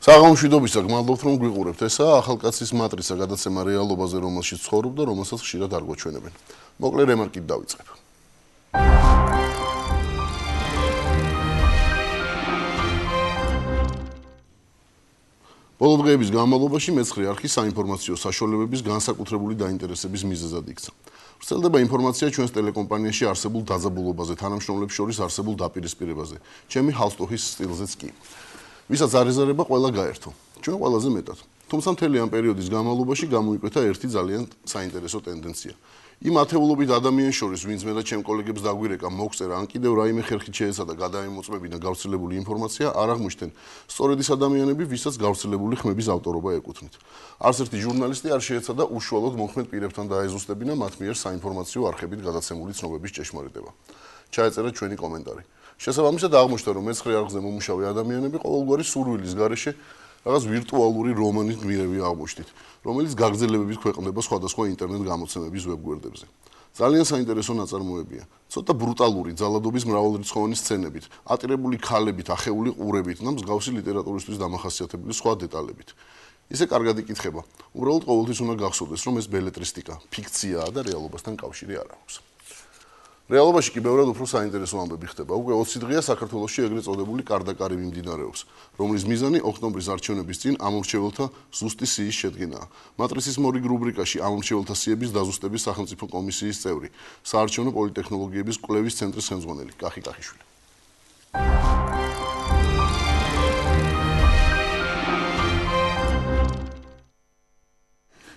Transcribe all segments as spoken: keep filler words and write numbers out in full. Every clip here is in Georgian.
საღამოშვიდობისა, გმადლობთ რომ გვიყურებთ. ესაა ახალკაცის მატრიცა გადაცემა რეალობაზე, რომელშიც ცხოვრობ და რომელსაც ხშირად არ გვაჩვენებენ. მოკლე რემარკით დავიწყებ. ბოლო დღეების განმავლობაში მეცხრე არხი საინფორმაციო საშუალებების განსაკუთრებული დაინტერესების მიზეზად იქცა. ვრცელდება ინფორმაცია ჩვენს ტელეკომპანიაში არსებულ დაძაბულობაზე, თანამშრომლებს შორის არსებულ დაპირისპირებაზე, ჩემი ჰალსტოხის სტილზეც კი. ვისაც არ ეზარება, ყველა გაერთო. ჩვენ ყველაზე მეტად. თუმცა მთელი ამ პერიოდის განმავლობაში გამოიკვეთა ერთი ძალიან საინტერესო ტენდენცია. იმ ათეულობით ადამიანის შორის, ვინც მე და ჩემ კოლეგებს დაგვირეკა მოგწერა, ან კიდევ რაიმე ხერხით შეეცადა გადაემოწმებინა გავრცელებული ინფორმაცია, არ აღმოჩნდნენ სწორედ ის ადამიანები, ვისაც გავრცელებული ხმების ავტორობა ეკუთვნით. არც ერთი ჟურნალისტი არ შეეცადა უშუალოდ მოქმედ პირებთან დაეზუსტებინა მათ მიერ საინფორმაციო არხებით გადაცემული ცნობების ჭეშმარიტება. ჩაეწერა ჩვენი კომენტარი. შესაბამისად აღმოჩნდა, რომ მეცხრე არხზე მომუშავე ადამიანები ყოველგვარი სურვილის გარეშე რაღაც ვირტუალური რომანის გმირები აღმოჩნდით, რომელიც გაგრძელებებით ქვეყნდება სხვადასხვა ინტერნეტ გამოცემების ვებგვერდებზე. ძალიან საინტერესო ნაწარმოებია. ცოტა ბრუტალური ძალადობის მრავალრიცხოვანი სცენებით, ატირებული ქალებით, ახეული ყურებით და მსგავსი ლიტერატურისთვის დამახასიათებელი სხვა დეტალებით. ისე კარგად იკითხება. უბრალოდ ყოველთვის უნდა გახსოვდეს, რომ ეს ბელეტრისტიკა, ფიქციაა და რეალობასთან კავშირი არ აქვს. რეალობაში კი ბევრად უფრო საინტერესო ამბები ხდება. უკვე ოცი დღეა საქართველოში ეგრეთ წოდებული კარდაკარი მიმდინარეობს, რომლის მიზანი ოქტომბრის არჩევნების წინ ამორჩეველთა ზუსტი სიის შედგენაა. მატრიცის მორიგ რუბრიკაში ამორჩეველთა სიების დაზუსტების სახელმწიფო კომისიის წევრი, საარჩევნო პოლიტექნოლოგიების კვლევის ცენტრის ხელმძღვანელი კახი კახიშვილი.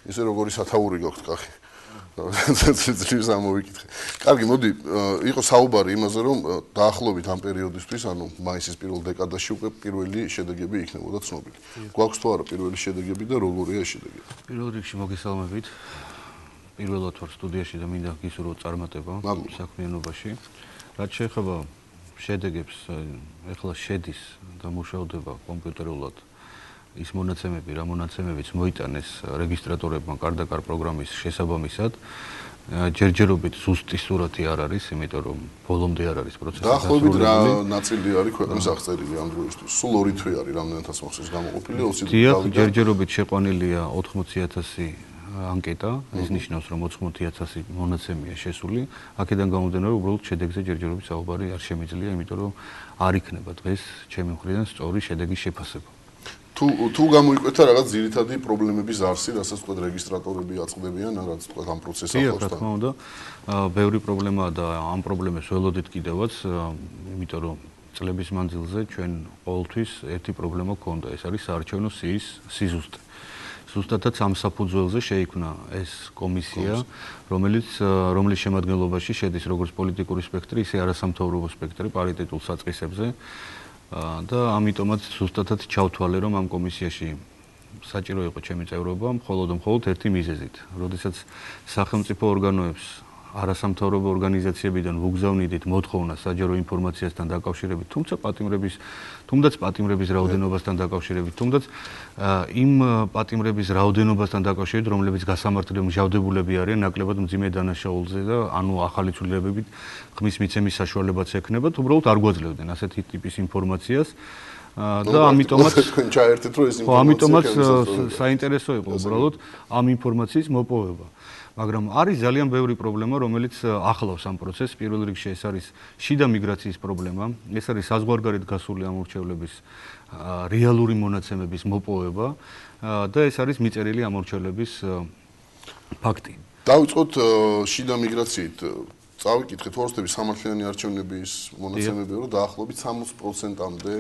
ისე როგორი სათაური გაქვთ კახი. ძლივს ამოვიკითხე. კარგი, მოდი, იყო საუბარი იმაზე, რომ დაახლოებით ამ პერიოდისთვის, ანუ მაისის პირველ დეკადაში უკვე პირველი შედეგები იქნებოდა ცნობილი. გვაქვს თუ არა პირველი შედეგები და როგორია ეს შედეგები? პირველ რიგში მოგესალმებით. პირველად ვარ სტუდიაში და მინდა გისურვოთ წარმატება საქმიანობაში. რაც შეეხება შედეგებს, ეხლა შედის და მუშავდება კომპიუტერულად ის მონაცემები, რა მონაცემებიც მოიტანეს რეგისტრატორებმა კარდაკარ პროგრამის შესაბამისად, ჯერჯერობით ზუსტი სურათი არ არის, იმიტომ რომ ბოლომდე არ არის პროცესი დასრულებული. დაახლოებით რა ნაწილი არის ქვეყნის აღწერილი ამ დროისთვის? სულ ორი თვე არის რამდენადაც მახსოვს გამოყოფილი ოცი დღე. დიახ, ჯერჯერობით შეყვანილია ოთხმოცი ათასი ანკეტა, ეს ნიშნავს, რომ ოთხმოცი ათასი მონაცემია შესული. აქედან გამომდინარე, უბრალოდ შედეგზე ჯერჯერობით საუბარი არ შემიძლია, იმიტომ რომ არ იქნება დღეს ჩემი მხრიდან სწორი შედეგის შეფასება. თუ თუ გამოიკვეთა რაღაც ძირითადი პრობლემების არსი, რასაც თქვა რეგისტრატორები აწყდებიან, რაც თქვა ამ პროცესს ახლავს. რა თქმა უნდა, ბევრი პრობლემაა და ამ პრობლემებს ველოდით კიდევაც, იმიტომ რომ წლების მანძილზე ჩვენ ყოველთვის ერთი პრობლემა გვქონდა, ეს არის საარჩევნო სიის სიზუსტე. ზუსტადაც ამ საფუძველზე შეიქმნა ეს კომისია, რომელიც რომლის შემადგენლობაში შედის როგორც პოლიტიკური სპექტრი, ისე არასამთავრობო სპექტრი პარიტეტულ საწყისებზე. და ამიტომაც ზუსტადად ჩავთვალე, რომ ამ კომისიაში საჭირო იყო ჩემი წევრობა, მხოლოდ მხოლოდ ერთი მიზეზით. როდესაც სახელმწიფო ორგანოებს არასამთავრობო ორგანიზაციებიდან ვუგზავნიდით მოთხოვნა საჯარო ინფორმაციასთან დაკავშირებით, თუმცა პატიმრების, თუნდაც პატიმრების რაოდენობასთან დაკავშირებით, თუნდაც იმ პატიმრების რაოდენობასთან დაკავშირებით, რომლებიც გასამართლებლად მჟავდებულები არიან ნაკლებად მძიმე დანაშაულზე და ანუ ახალი ცვლილებებით ხმის მიცემის საშუალებაც ექნებათ, უბრალოდ არ გვაძლევდნენ ასეთი ტიპის ინფორმაციას. და ამიტომაც ჩაერთეთ, რომ ეს ინფორმაცია ამიტომაც საინტერესო იყო უბრალოდ ამ ინფორმაციის მოპოვება. მაგრამ არის ძალიან ბევრი პრობლემა, რომელიც ახლავს ამ პროცესს. პირველ რიგში ეს არის შიდა მიგრაციის პრობლემა, ეს არის საზღვარგარეთ გასული ამორჩევლების რეალური მონაცემების მოპოვება და ეს არის მიწერილი ამორჩევლების ფაქტი. დავიწყოთ შიდა მიგრაციით. წავიკითხეთ ვარსკვლავების სამართლიანი არჩევნების მონაცემები, რომ დაახლოებით სამოცი პროცენტამდე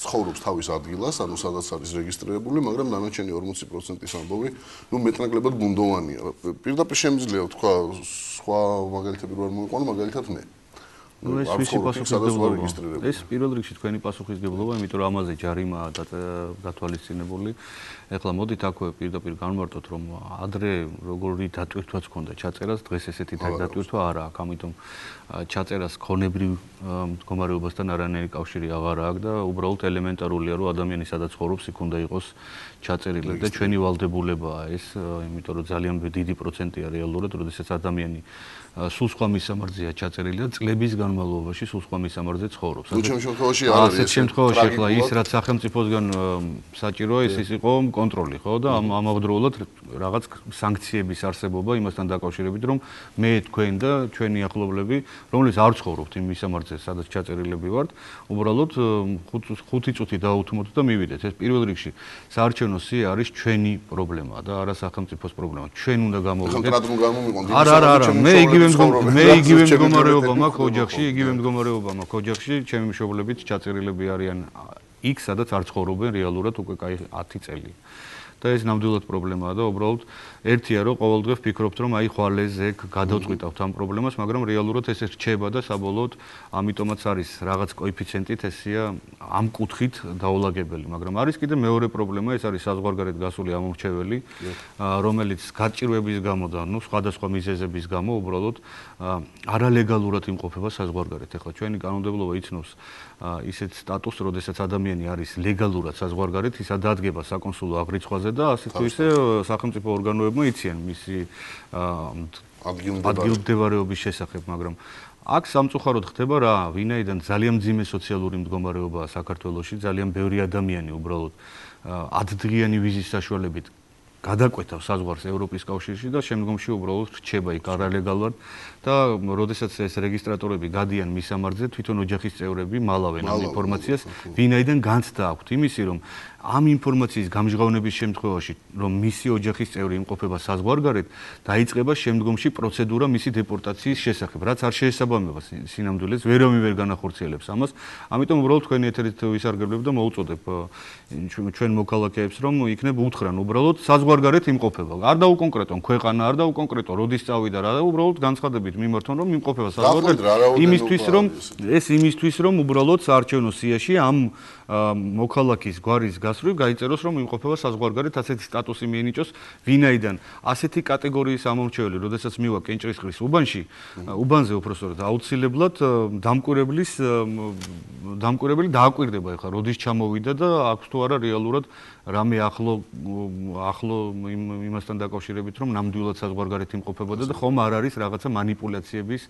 ცხოვრობს თავის ადგილას, ანუ სადაც არის რეგისტრირებული, მაგრამ დანარჩენი ორმოცი პროცენტის ამბავი, ნუ მეტნაკლებად ბუნდოვანია. პირდაპირ შემიძლია თქვა, სხვა მაგალითები რო არ მოიყვანო, მაგალითად მე. ну ეს ვისი პასუხისმგებლობა? ეს პირველ რიგში თქვენი პასუხისმგებლობა, იმიტომ რომ ამაზე ჯარიმაა გათვალისწინებული. ეხლა მოდით აქვე პირდაპირ განვარტოთ, რომ ადრე როგორი დატვირთვაც ქონდა ჩაწერას, დღეს ესეთი დატვირთვა არ აქვს, ამიტომ ჩაწერას ქონებრივ მდგომარეობასთან არანაირი კავშირი აღარ აქვს და უბრალოდ ელემენტარულია, რომ ადამიანი სადაც ცხოვრობს, იქ უნდა იყოს ჩაწერილი და ჩვენი ვალდებულებაა ეს, იმიტომ რომ ძალიან დიდი პროცენტია რეალურად, როდესაც ადამიანი სულ სხვა მისამართზეა ჩაწერილი და წლების განმავლობაში სულ სხვა მისამართზე ცხოვრობს. ნუ ჩემ შემთხვევაში არ არის. ასეთ შემთხვევაში ახლა ის რაც სახელმწიფოსგან საჭიროა ის იყო კონტროლი, ხო და ამავდროულად რაღაც სანქციების არსებობა იმასთან დაკავშირებით, რომ მე თქვენ და ჩვენი ახლობლები, რომლებიც არ ცხოვრობთ იმ მისამართზე, სადაც ჩაწერილები ვართ, უბრალოდ ხუთი წუთი დაუთმოთ და მივიდეთ. ეს პირველ რიგში საარჩევნო სია არის ჩვენი პრობლემა და არა სახელმწიფოს პრობლემა. ჩვენ უნდა გამოვიდეთ. არა, არა, არა, მე იგივე მე იგივე მდგომარეობა მაქვს ოჯახში, იგივე მდგომარეობა მაქვს ოჯახში, ჩემი მშობლებიც ჩაწერილები არიან იქ, სადაც არ ცხოვრობენ რეალურად უკვე კაი ათი წელი. და ეს ნამდვილად პრობლემაა და უბრალოდ ერთია რომ ყოველდღე ვფიქრობთ რომ აი ხვალ ეს ეგ გადავწყვიტავთ ამ პრობლემას, მაგრამ რეალურად ეს რჩება და საბოლოოდ ამიტომაც არის რაღაც კოეფიციენტით ესია ამ კუთხით დაულაგებელი, მაგრამ არის კიდე მეორე პრობლემა, ეს არის საზღვარგარეთ გასული ამორჩეველი, რომელიც გაჭირვების გამო და ნუ სხვადასხვა მიზეზების გამო უბრალოდ არალეგალურად იმყოფება საზღვარგარეთ. ეხლა ჩვენი კანონმდებლობა იცნობს ისეთ სტატუსს, როდესაც ადამიანი არის ლეგალურად საზღვარგარეთ, ის ადადგება საკონსულო აღრიცხვაზე და ასე თუ ისე სახელმწიფო ორგანოებმა იციან მისი ადგილმდებარეობის შესახებ, მაგრამ აქ სამწუხაროდ ხდება რა, ვინაიდან ძალიან მძიმე სოციალური მდგომარეობაა საქართველოში, ძალიან ბევრი ადამიანი უბრალოდ ათდღიანი ვიზის საშუალებით გადაკვეთავს საზღვარს ევროპის კავშირში და შემდგომში უბრალოდ რჩება იქ არალეგალურად და როდესაც ეს რეგისტრატორები გადიან მისამართზე, თვითონ ოჯახის წევრები მალავენ ამ ინფორმაციას, ვინაიდან განცდა აქვთ იმისი, რომ ამ ინფორმაციის გამჟღავნების შემთხვევაში, რომ მისი ოჯახის წევრი იმყოფება საზღვარგარეთ, დაიწყება შემდგომში პროცედურა მისი დეპორტაციის შესახებ, რაც არ შეესაბამება სინამდვილეს, ვერავინ ვერ განახორციელებს ამას. ამიტომ უბრალოდ თქვენი ეთერით ვისარგებლებ და მოვუწოდებ ჩვენ მოქალაქეებს, რომ იქნებ უთხრან უბრალოდ საზღვარგარეთ იმყოფება. არ დაუკონკრეტონ ქვეყანა, არ დაუკონკრეტონ როდის წავიდა რა და უბრალოდ განცხადებით მიმართონ, რომ იმყოფება საზღვარგარეთ. იმისთვის, რომ ეს იმისთვის, რომ უბრალოდ საარჩევნო სიაში ამ მოქალაქის გვარის გასვლით გაიწეროს, რომ იმყოფება საზღვარგარეთ, ასეთი სტატუსი მიენიჭოს, ვინაიდან ასეთი კატეგორიის ამორჩეველი, როდესაც მივა კენჭრისყრის უბანში, უბანზე უпростоრად აუცილებლად დამკვირვებლის დამკვირვებელი დააკვირდება ახლა, როდის ჩამოვიდა და აქვს თუ არა რეალურად რამე ახლო ახლო იმასთან დაკავშირებით, რომ ნამდვილად საზღვარგარეთ იმყოფებოდა და ხომ არ არის რაღაცა манипуляციების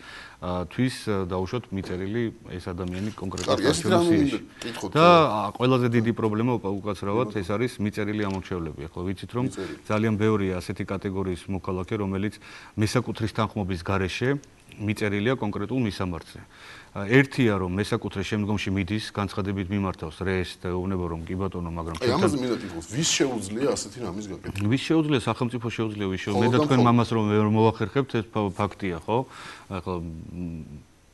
თვის დაუშვათ მიწერილი ეს ადამიანი კონკრეტულად საარჩევნოში. და ყველაზე დიდი პრობლემა უკაცრავად ეს არის მიწერილი ამორჩევლები. ახლა ვიცით რომ ძალიან ბევრია ასეთი კატეგორიის მოქალაქე, რომელიც მესაკუთრის თანხმობის გარეშე მიწერილია კონკრეტულ მისამართზე. ერთია რომ მესაკუთრე შემდგომში მიდის, განცხადებით მიმართავს რეესს და ეუბნება რომ კი ბატონო, მაგრამ აი ამაზე მინდა თვითონ ვის შეუძლია ასეთი რამის გაკეთება? ვის შეუძლია? სახელმწიფო შეუძლია, ვის შეუძლია? მე და თქვენ მამას რომ ვერ მოვახერხებთ, ეს ფაქტია, ხო? ახლა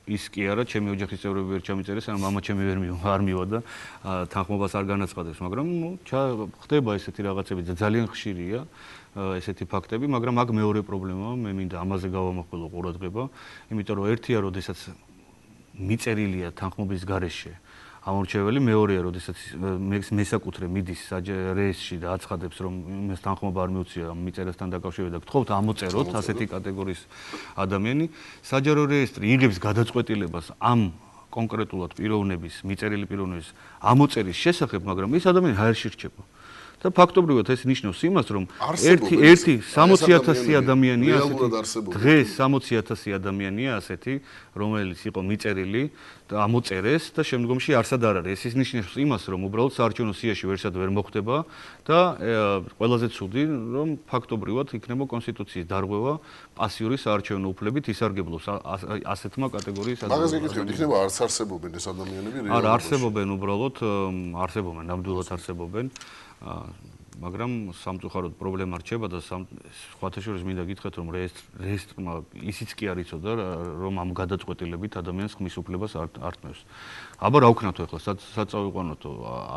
ის კი არა, ჩემი ოჯახის წევრები ვერ ჩამიწერეს, ან მამა ჩემი ვერ არ მივა და თანხმობას არ განაცხადებს, მაგრამ ნუ ხდება ესეთი რაღაცები და ძალიან ხშირია ესეთი ფაქტები, მაგრამ აქ მეორე პრობლემაა, მე მინდა ამაზე გავამახვილო ყურადღება, იმიტომ რომ ერთია, როდესაც მიწერილია თანხმობის გარეშე ამორჩეველი, მეორეა, როდესაც მესაკუთრე მიდის რეესში და აცხადებს, რომ იმას თანხმობა არ მიუწია მიწერასთან დაკავშირებით და გთხოვთ ამოწეროთ ასეთი კატეგორიის ადამიანი, საჯარო რეესტრი იღებს გადაწყვეტილებას ამ კონკრეტულად პიროვნების, მიწერილი პიროვნების ამოწერის შესახებ, მაგრამ ეს ადამიანი ჰაერში რჩება. და ფაქტობრივად ეს ნიშნავს იმას, რომ ერთი ერთი სამოცი ათასი ადამიანია ასეთი, დღეს სამოცი ათასი ადამიანია ასეთი, რომელიც იყო მიწერილი და ამოწერეს და შემდგომში არსად არ არის. ეს ნიშნავს იმას, რომ უბრალოდ საარჩევნო სიაში ვერსად ვერ მოხდება და ყველაზე ცუდი, რომ ფაქტობრივად იქნება კონსტიტუციის დარღვევა პასიური საარჩევნო უფლებით ისარგებლოს ასეთმა კატეგორიის ადამიანებმა. მაგას გეკითხებით, იქნება არც არსებობენ ეს ადამიანები რეალურად? არა, არსებობენ უბრალოდ, არსებობენ, ნამდვილად არსებობენ. მაგრამ სამწუხაროდ პრობლემა რჩება და სხვათა შორის მინდა გითხრათ, რომ რეესტრმა ისიც კი არ იცოდა, რომ ამ გადაწყვეტილებით ადამიანს ხმის უფლებას არ ართმევს. აბა რა ვქნათო ახლა, სად წავიყვანოთო,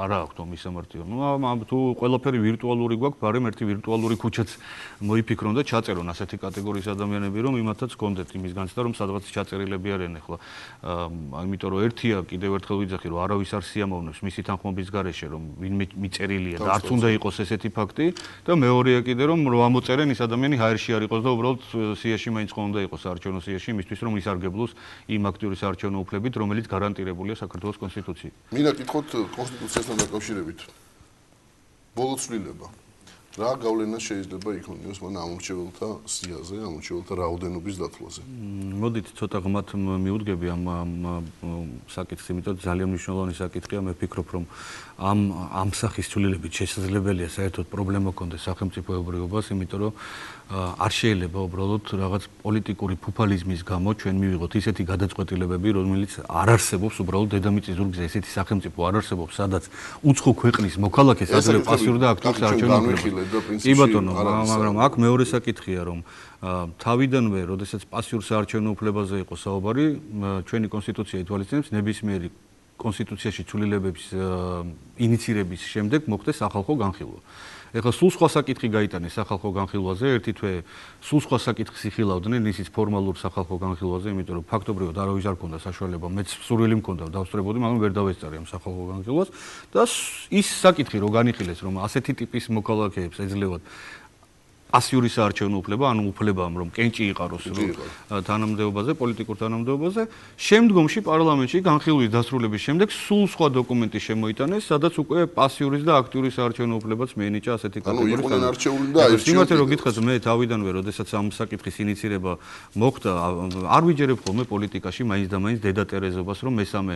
არა აქვს თო მისამართი. ნუ თუ ყველაფერი ვირტუალური გვაქვს, ბარემ ერთი ვირტუალური ქუჩაც მოიფიქრონ და ჩაწერონ ასეთი კატეგორიის ადამიანები, რომ იმათაც გქონდეთ იმის განცდა, რომ სადღაც ჩაწერილები არიან ახლა. იმიტომ რომ ერთია კიდევ ერთხელ ვიძახი, რომ არავის არ სიამოვნებს მისი თანხმობის გარეშე, რომ ვინმე მიწერილია და არც უნდა იყოს ესეთი ფაქტი და მეორეა კიდე რომ რო ამოწერენ ის ადამიანი ჰაერში არ იყოს და უბრალოდ სიაში მაინც ხომ უნდა იყოს საარჩევნო სიაში იმისთვის რომ ისარგებლოს იმ აქტიური საარჩევნო უფლებით რომელიც გარანტირებულია საქართველოს კონსტიტუციით. მინდა გითხოთ კონსტიტუციასთან დაკავშირებით. ბოლო ცვლილება. რა გავლენა შეიძლება იქონიოს მან ამორჩეველთა სიაზე, ამორჩეველთა რაოდენობის დათვლაზე. მოდით ცოტა ღმათ მიუდგები ამ საკითხს, იმიტომ რომ ძალიან მნიშვნელოვანი საკითხია, მე ვფიქრობ, რომ ამ ამ სახის ცვლილებით შესაძლებელია საერთოდ პრობლემა ქონდეს სახელმწიფოებრიობას, იმიტომ რომ არ შეიძლება უბრალოდ რაღაც პოლიტიკური ფუფალიზმის გამო ჩვენ მივიღოთ ისეთი გადაწყვეტილებები, რომელიც არ არსებობს უბრალოდ დედამიწის ზურგზე, ესეთი სახელმწიფო არ არსებობს, სადაც უცხო ქვეყნის მოქალაქეს აძლევს პასიური და აქტიური საარჩევნო უფლება. კი ბატონო, მაგრამ აქ მეორე საკითხია, რომ თავიდანვე, როდესაც პასიურ საარჩევნო უფლებაზე იყო საუბარი, ჩვენი კონსტიტუცია ითვალისწინებს ნებისმიერი კონსტიტუციაში ცვლილებების ინიცირების შემდეგ მოხდეს სახალხო განხილვა. ეხლა სულ სხვა საკითხი გაიტანეს სახალხო განხილვაზე, ერთი თვე სულ სხვა საკითხს იხილავდნენ ისიც ფორმალურ სახალხო განხილვაზე, იმიტომ რომ ფაქტობრივად არავის არ ქონდა საშუალება, მეც სურვილი მქონდა დავსწრებოდი, მაგრამ ვერ დავესწარი ამ სახალხო განხილვას და ის საკითხი რო განიხილეს, რომ ასეთი ტიპის მოქალაქეებს ეძლევათ პასიური საარჩევნო უფლება, ანუ უფლება, რომ კენჭი იყაროს თანამდებობაზე, პოლიტიკურ თანამდებობაზე, შემდგომში პარლამენტში განხილვის დასრულების შემდეგ სულ სხვა დოკუმენტი შემოიტანეს, სადაც უკვე პასიურის და აქტიური საარჩევნო უფლებაც მიენიჭა ასეთი კატეგორიის. ანუ იყვნენ არჩეული და ეს იმათე რომ გითხრათ, მე თავიდანვე, როდესაც ამ საკითხის ინიცირება მოხდა, არ ვიჯერებ ხოლმე პოლიტიკაში მაინც და მაინც დედა ტერეზობას, რომ მესამე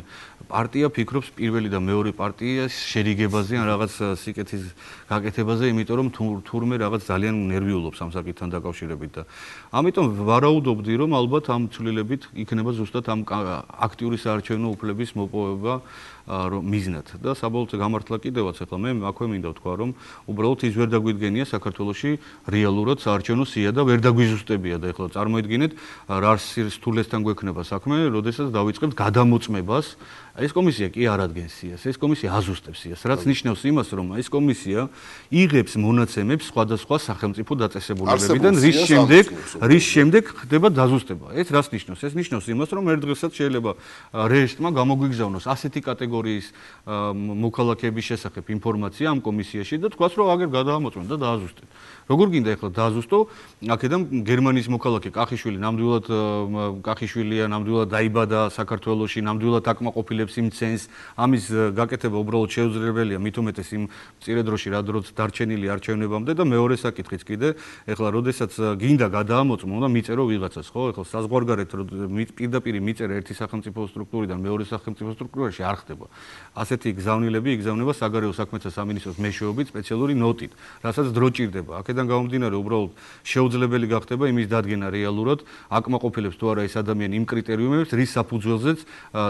პარტია ფიქრობს პირველი და მეორე პარტიის შერიგებაზე ან რაღაც სიკეთის გაკეთებაზე, იმიტომ რომ თურმე რაღაც ძალიან ნერვიულობს ამ საკითხთან დაკავშირებით და ამიტომ ვარაუდობდი, რომ ალბათ ამ ცვლილებით იქნება ზუსტად ამ აქტიური საარჩევნო უფლების მოპოვება მიზნად და საბოლოოდ გამართლა კიდევაც ახლა მე აქვე მინდა ვთქვა, რომ უბრალოდ ის ვერ დაგვიდგენია საქართველოში რეალურად საარჩევნო სია და ვერ დაგვიზუსტებია და ახლა წარმოიდგინეთ რა სრთულესთან გვექნება საქმე, როდესაც დავიწყებთ გადამოწმებას. ეს კომისია კი არ ადგენს სიას, ეს კომისია აზუსტებს სიას, რაც ნიშნავს იმას, რომ ეს კომისია იღებს მონაცემებს სხვადასხვა სახელმწიფო დაწესებულებებიდან, რის შემდეგ რის შემდეგ ხდება დაზუსტება. ეს რას ნიშნავს? ეს ნიშნავს იმას, რომ ერთ დღესაც შეიძლება რეესტრმა გამოგვიგზავნოს ასეთი კატეგორიის მოქალაქეების შესახებ ინფორმაცია ამ კომისიაში და თქვას, რომ აგერ გადაამოწმოთ და დააზუსტეთ. როგორ გინდა ახლა დააზუსტო? აქედან გერმანიის მოქალაქე კახიშვილი ნამდვილად კახიშვილია, ნამდვილად დაიბადა საქართველოში, ნამდვილად აკმაყოფილებს იმ ცენს, ამის გაკეთება უბრალოდ შეუძლებელია, მით უმეტეს იმ მწირე დროში, რა დროც დარჩენილი არჩევნებამდე და მეორე საკითხიც კიდე, ეხლა როდესაც გინდა გადაამოწმო და მიწერო ვიღაცას, ხო? ეხლა საზღვარგარეთ პირდაპირ მიწერა ერთი სახელმწიფო სტრუქტურიდან მეორე სახელმწიფო სტრუქტურაში არ ხდება. ასეთი გზავნილები იგზავნება საგარეო საქმეთა სამინისტროს მეშვეობით სპეციალური ნოტით, რასაც დრო ჭირდება. აქედან გამომდინარე, უბრალოდ შეუძლებელი გახდება იმის დადგენა რეალურად, აკმაყოფილებს თუ არა ეს ადამიანი იმ კრიტერიუმებს, რის საფუძველზეც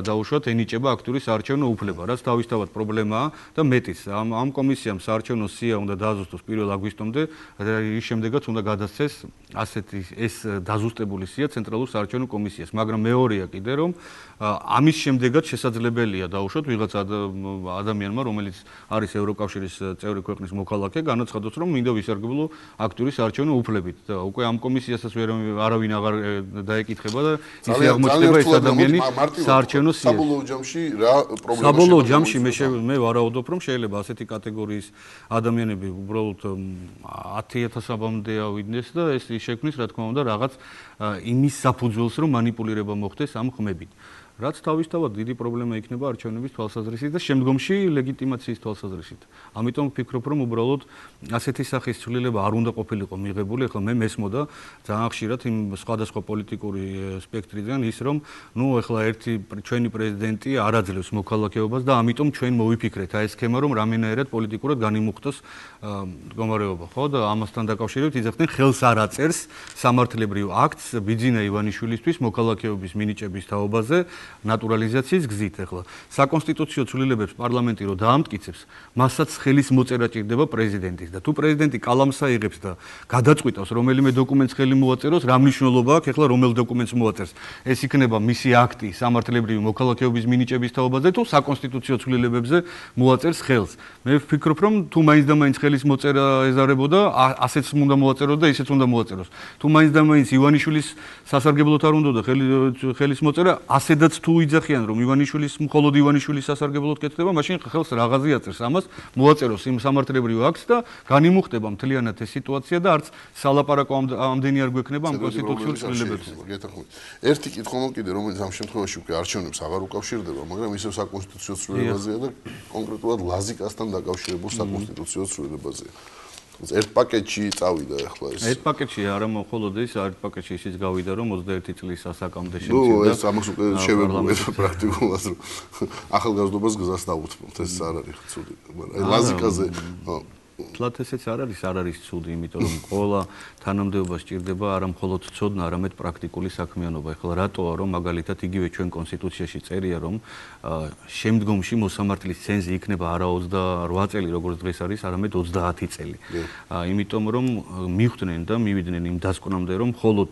დაუშვათ ენიჭება აქტიური საარჩევნო უფლება, რაც თავისთავად პრობლემაა და მეტიც. ამ ამ კომისიამ საარჩევნო სია უნდა დააზუსტოს პირველ აგვისტომდე, რის შემდეგაც უნდა გადასცეს ასეთი ეს დაზუსტებული სია ცენტრალურ საარჩევნო კომისიას, მაგრამ მეორეა კიდე, რომ ამის შემდეგაც შესაძლებელია დაუშვათ ვიღაც ადამიანმა, რომელიც არის ევროკავშირის წევრი ქვეყნის მოქალაქე, განაცხადოს, რომ მინდა ვისარგებლო აქტიური საარჩევნო უფლებით და უკვე ამ კომისიასაც ვერ არავინ აღარ დაეკითხება და ისე აღმოჩნდება ეს ადამიანი საარჩევნო სია. საბოლოო ჯამში რა პრობლემა საბოლოო ჯამში მე მე ვარაუდობ, რომ შეიძლება ასეთი კატეგორიის ადამიანები უბრალოდ ათი ათასამდე ავიდნენ და ეს შექმნის, რა თქმა უნდა, რაღაც იმის საფუძველს, რომ манипуლირება მოხდეს ამ ხმებით. რაც თავისთავად დიდი პრობლემა იქნება არჩევნების თვალსაზრისით და შემდგომში ლეგიტიმაციის თვალსაზრისით. ამიტომ ვფიქრობ, რომ უბრალოდ ასეთი სახის ცვლილება არ უნდა ყოფილიყო მიღებული, ახლა მე მესმოდა ძალიან ხშირად იმ სხვადასხვა პოლიტიკური სპექტრიდან ის, რომ ნუ ახლა ერთი ჩვენი პრეზიდენტი არ აძლევს მოქალაქეობას და ამიტომ ჩვენ მოვიფიქრეთ აი ეს სქემა, რომ რამენაერად პოლიტიკურად განიმუხტოს მდგომარეობა, ხო და ამასთან დაკავშირებით იძახდნენ ხელს არ აწერს სამართლებრივ აქტს ბიძინა ივანიშვილისთვის მოქალაქეობის მინიჭების თაობაზე ნატურალიზაციის გზით. ახლა საკონსტიტუციო ცვლილებებს პარლამენტი რო დაამტკიცებს, მასაც ხელის მოწერა ჭირდება პრეზიდენტის და თუ პრეზიდენტი კალამს აიღებს და გადაწყვიტავს რომელიმე დოკუმენტს ხელი მოაწეროს, რა მნიშვნელობა აქვს ახლა რომელ დოკუმენტს მოაწერს? ეს იქნება მისი აქტი სამართლებრივი მოქალაქეობის მინიჭების თაობაზე თუ საკონსტიტუციო ცვლილებებზე მოაწერს ხელს. მე ვფიქრობ, რომ თუ მაინც და მაინც ხელის მოწერა ეზარებოდა, ასეც უნდა მოაწეროს და ისეც უნდა მოაწეროს. თუ მაინც და მაინც ივანიშვილის სასარგებლოდ არ უნდა და ხელის მოწერა, ასედაც თუ იძახიან, რომ ივანიშვილის მხოლოდ ივანიშვილის სასარგებლოდ კეთდება, მაშინ ხელს რაღაცი აწერს ამას, მოაწეროს იმ სამართლებრივ აქტს და განიმუხტება მთლიანად ეს სიტუაცია და არც სალაპარაკო ამდენი არ გვექნება ამ კონსტიტუციურ ცვლილებებზე. ერთი კითხვა მოკიდე, რომელიც ამ შემთხვევაში უკვე არჩევნებს აღარ უკავშირდება, მაგრამ ისევ საკონსტიტუციო ცვლილებაზეა და კონკრეტულად ლაზიკასთან დაკავშირებულ საკონსტიტუციო ცვლილებაზეა. ერთ პაკეტში წავიდა ახლა ეს. ერთ პაკეტში არა მხოლოდ ის, ერთ პაკეტში ისიც გავიდა, რომ ოცდაერთი წლის ასაკამდე ნუ შემცირდა. ეს ამას უკვე შევებულეთ პრაქტიკულად, რომ ახალგაზრდობას გზას დაუთმობთ, ეს არ არის ცუდი. მაგრამ ლაზიკაზე თლათ ესეც არ არის, არ არის ცუდი, იმიტომ რომ ყველა თანამდებობა სჭირდება არა მხოლოდ ცოდნა, არამედ პრაქტიკული საქმიანობა. ეხლა რატოა რომ მაგალითად იგივე ჩვენ კონსტიტუციაში წერია, რომ შემდგომში მოსამართლის ცენზი იქნება არა ოცდაოთხ წელი, როგორც დღეს არის, არამედ ოცდაათი წელი. იმიტომ რომ მიხვდნენ და მივიდნენ იმ დასკვნამდე, რომ მხოლოდ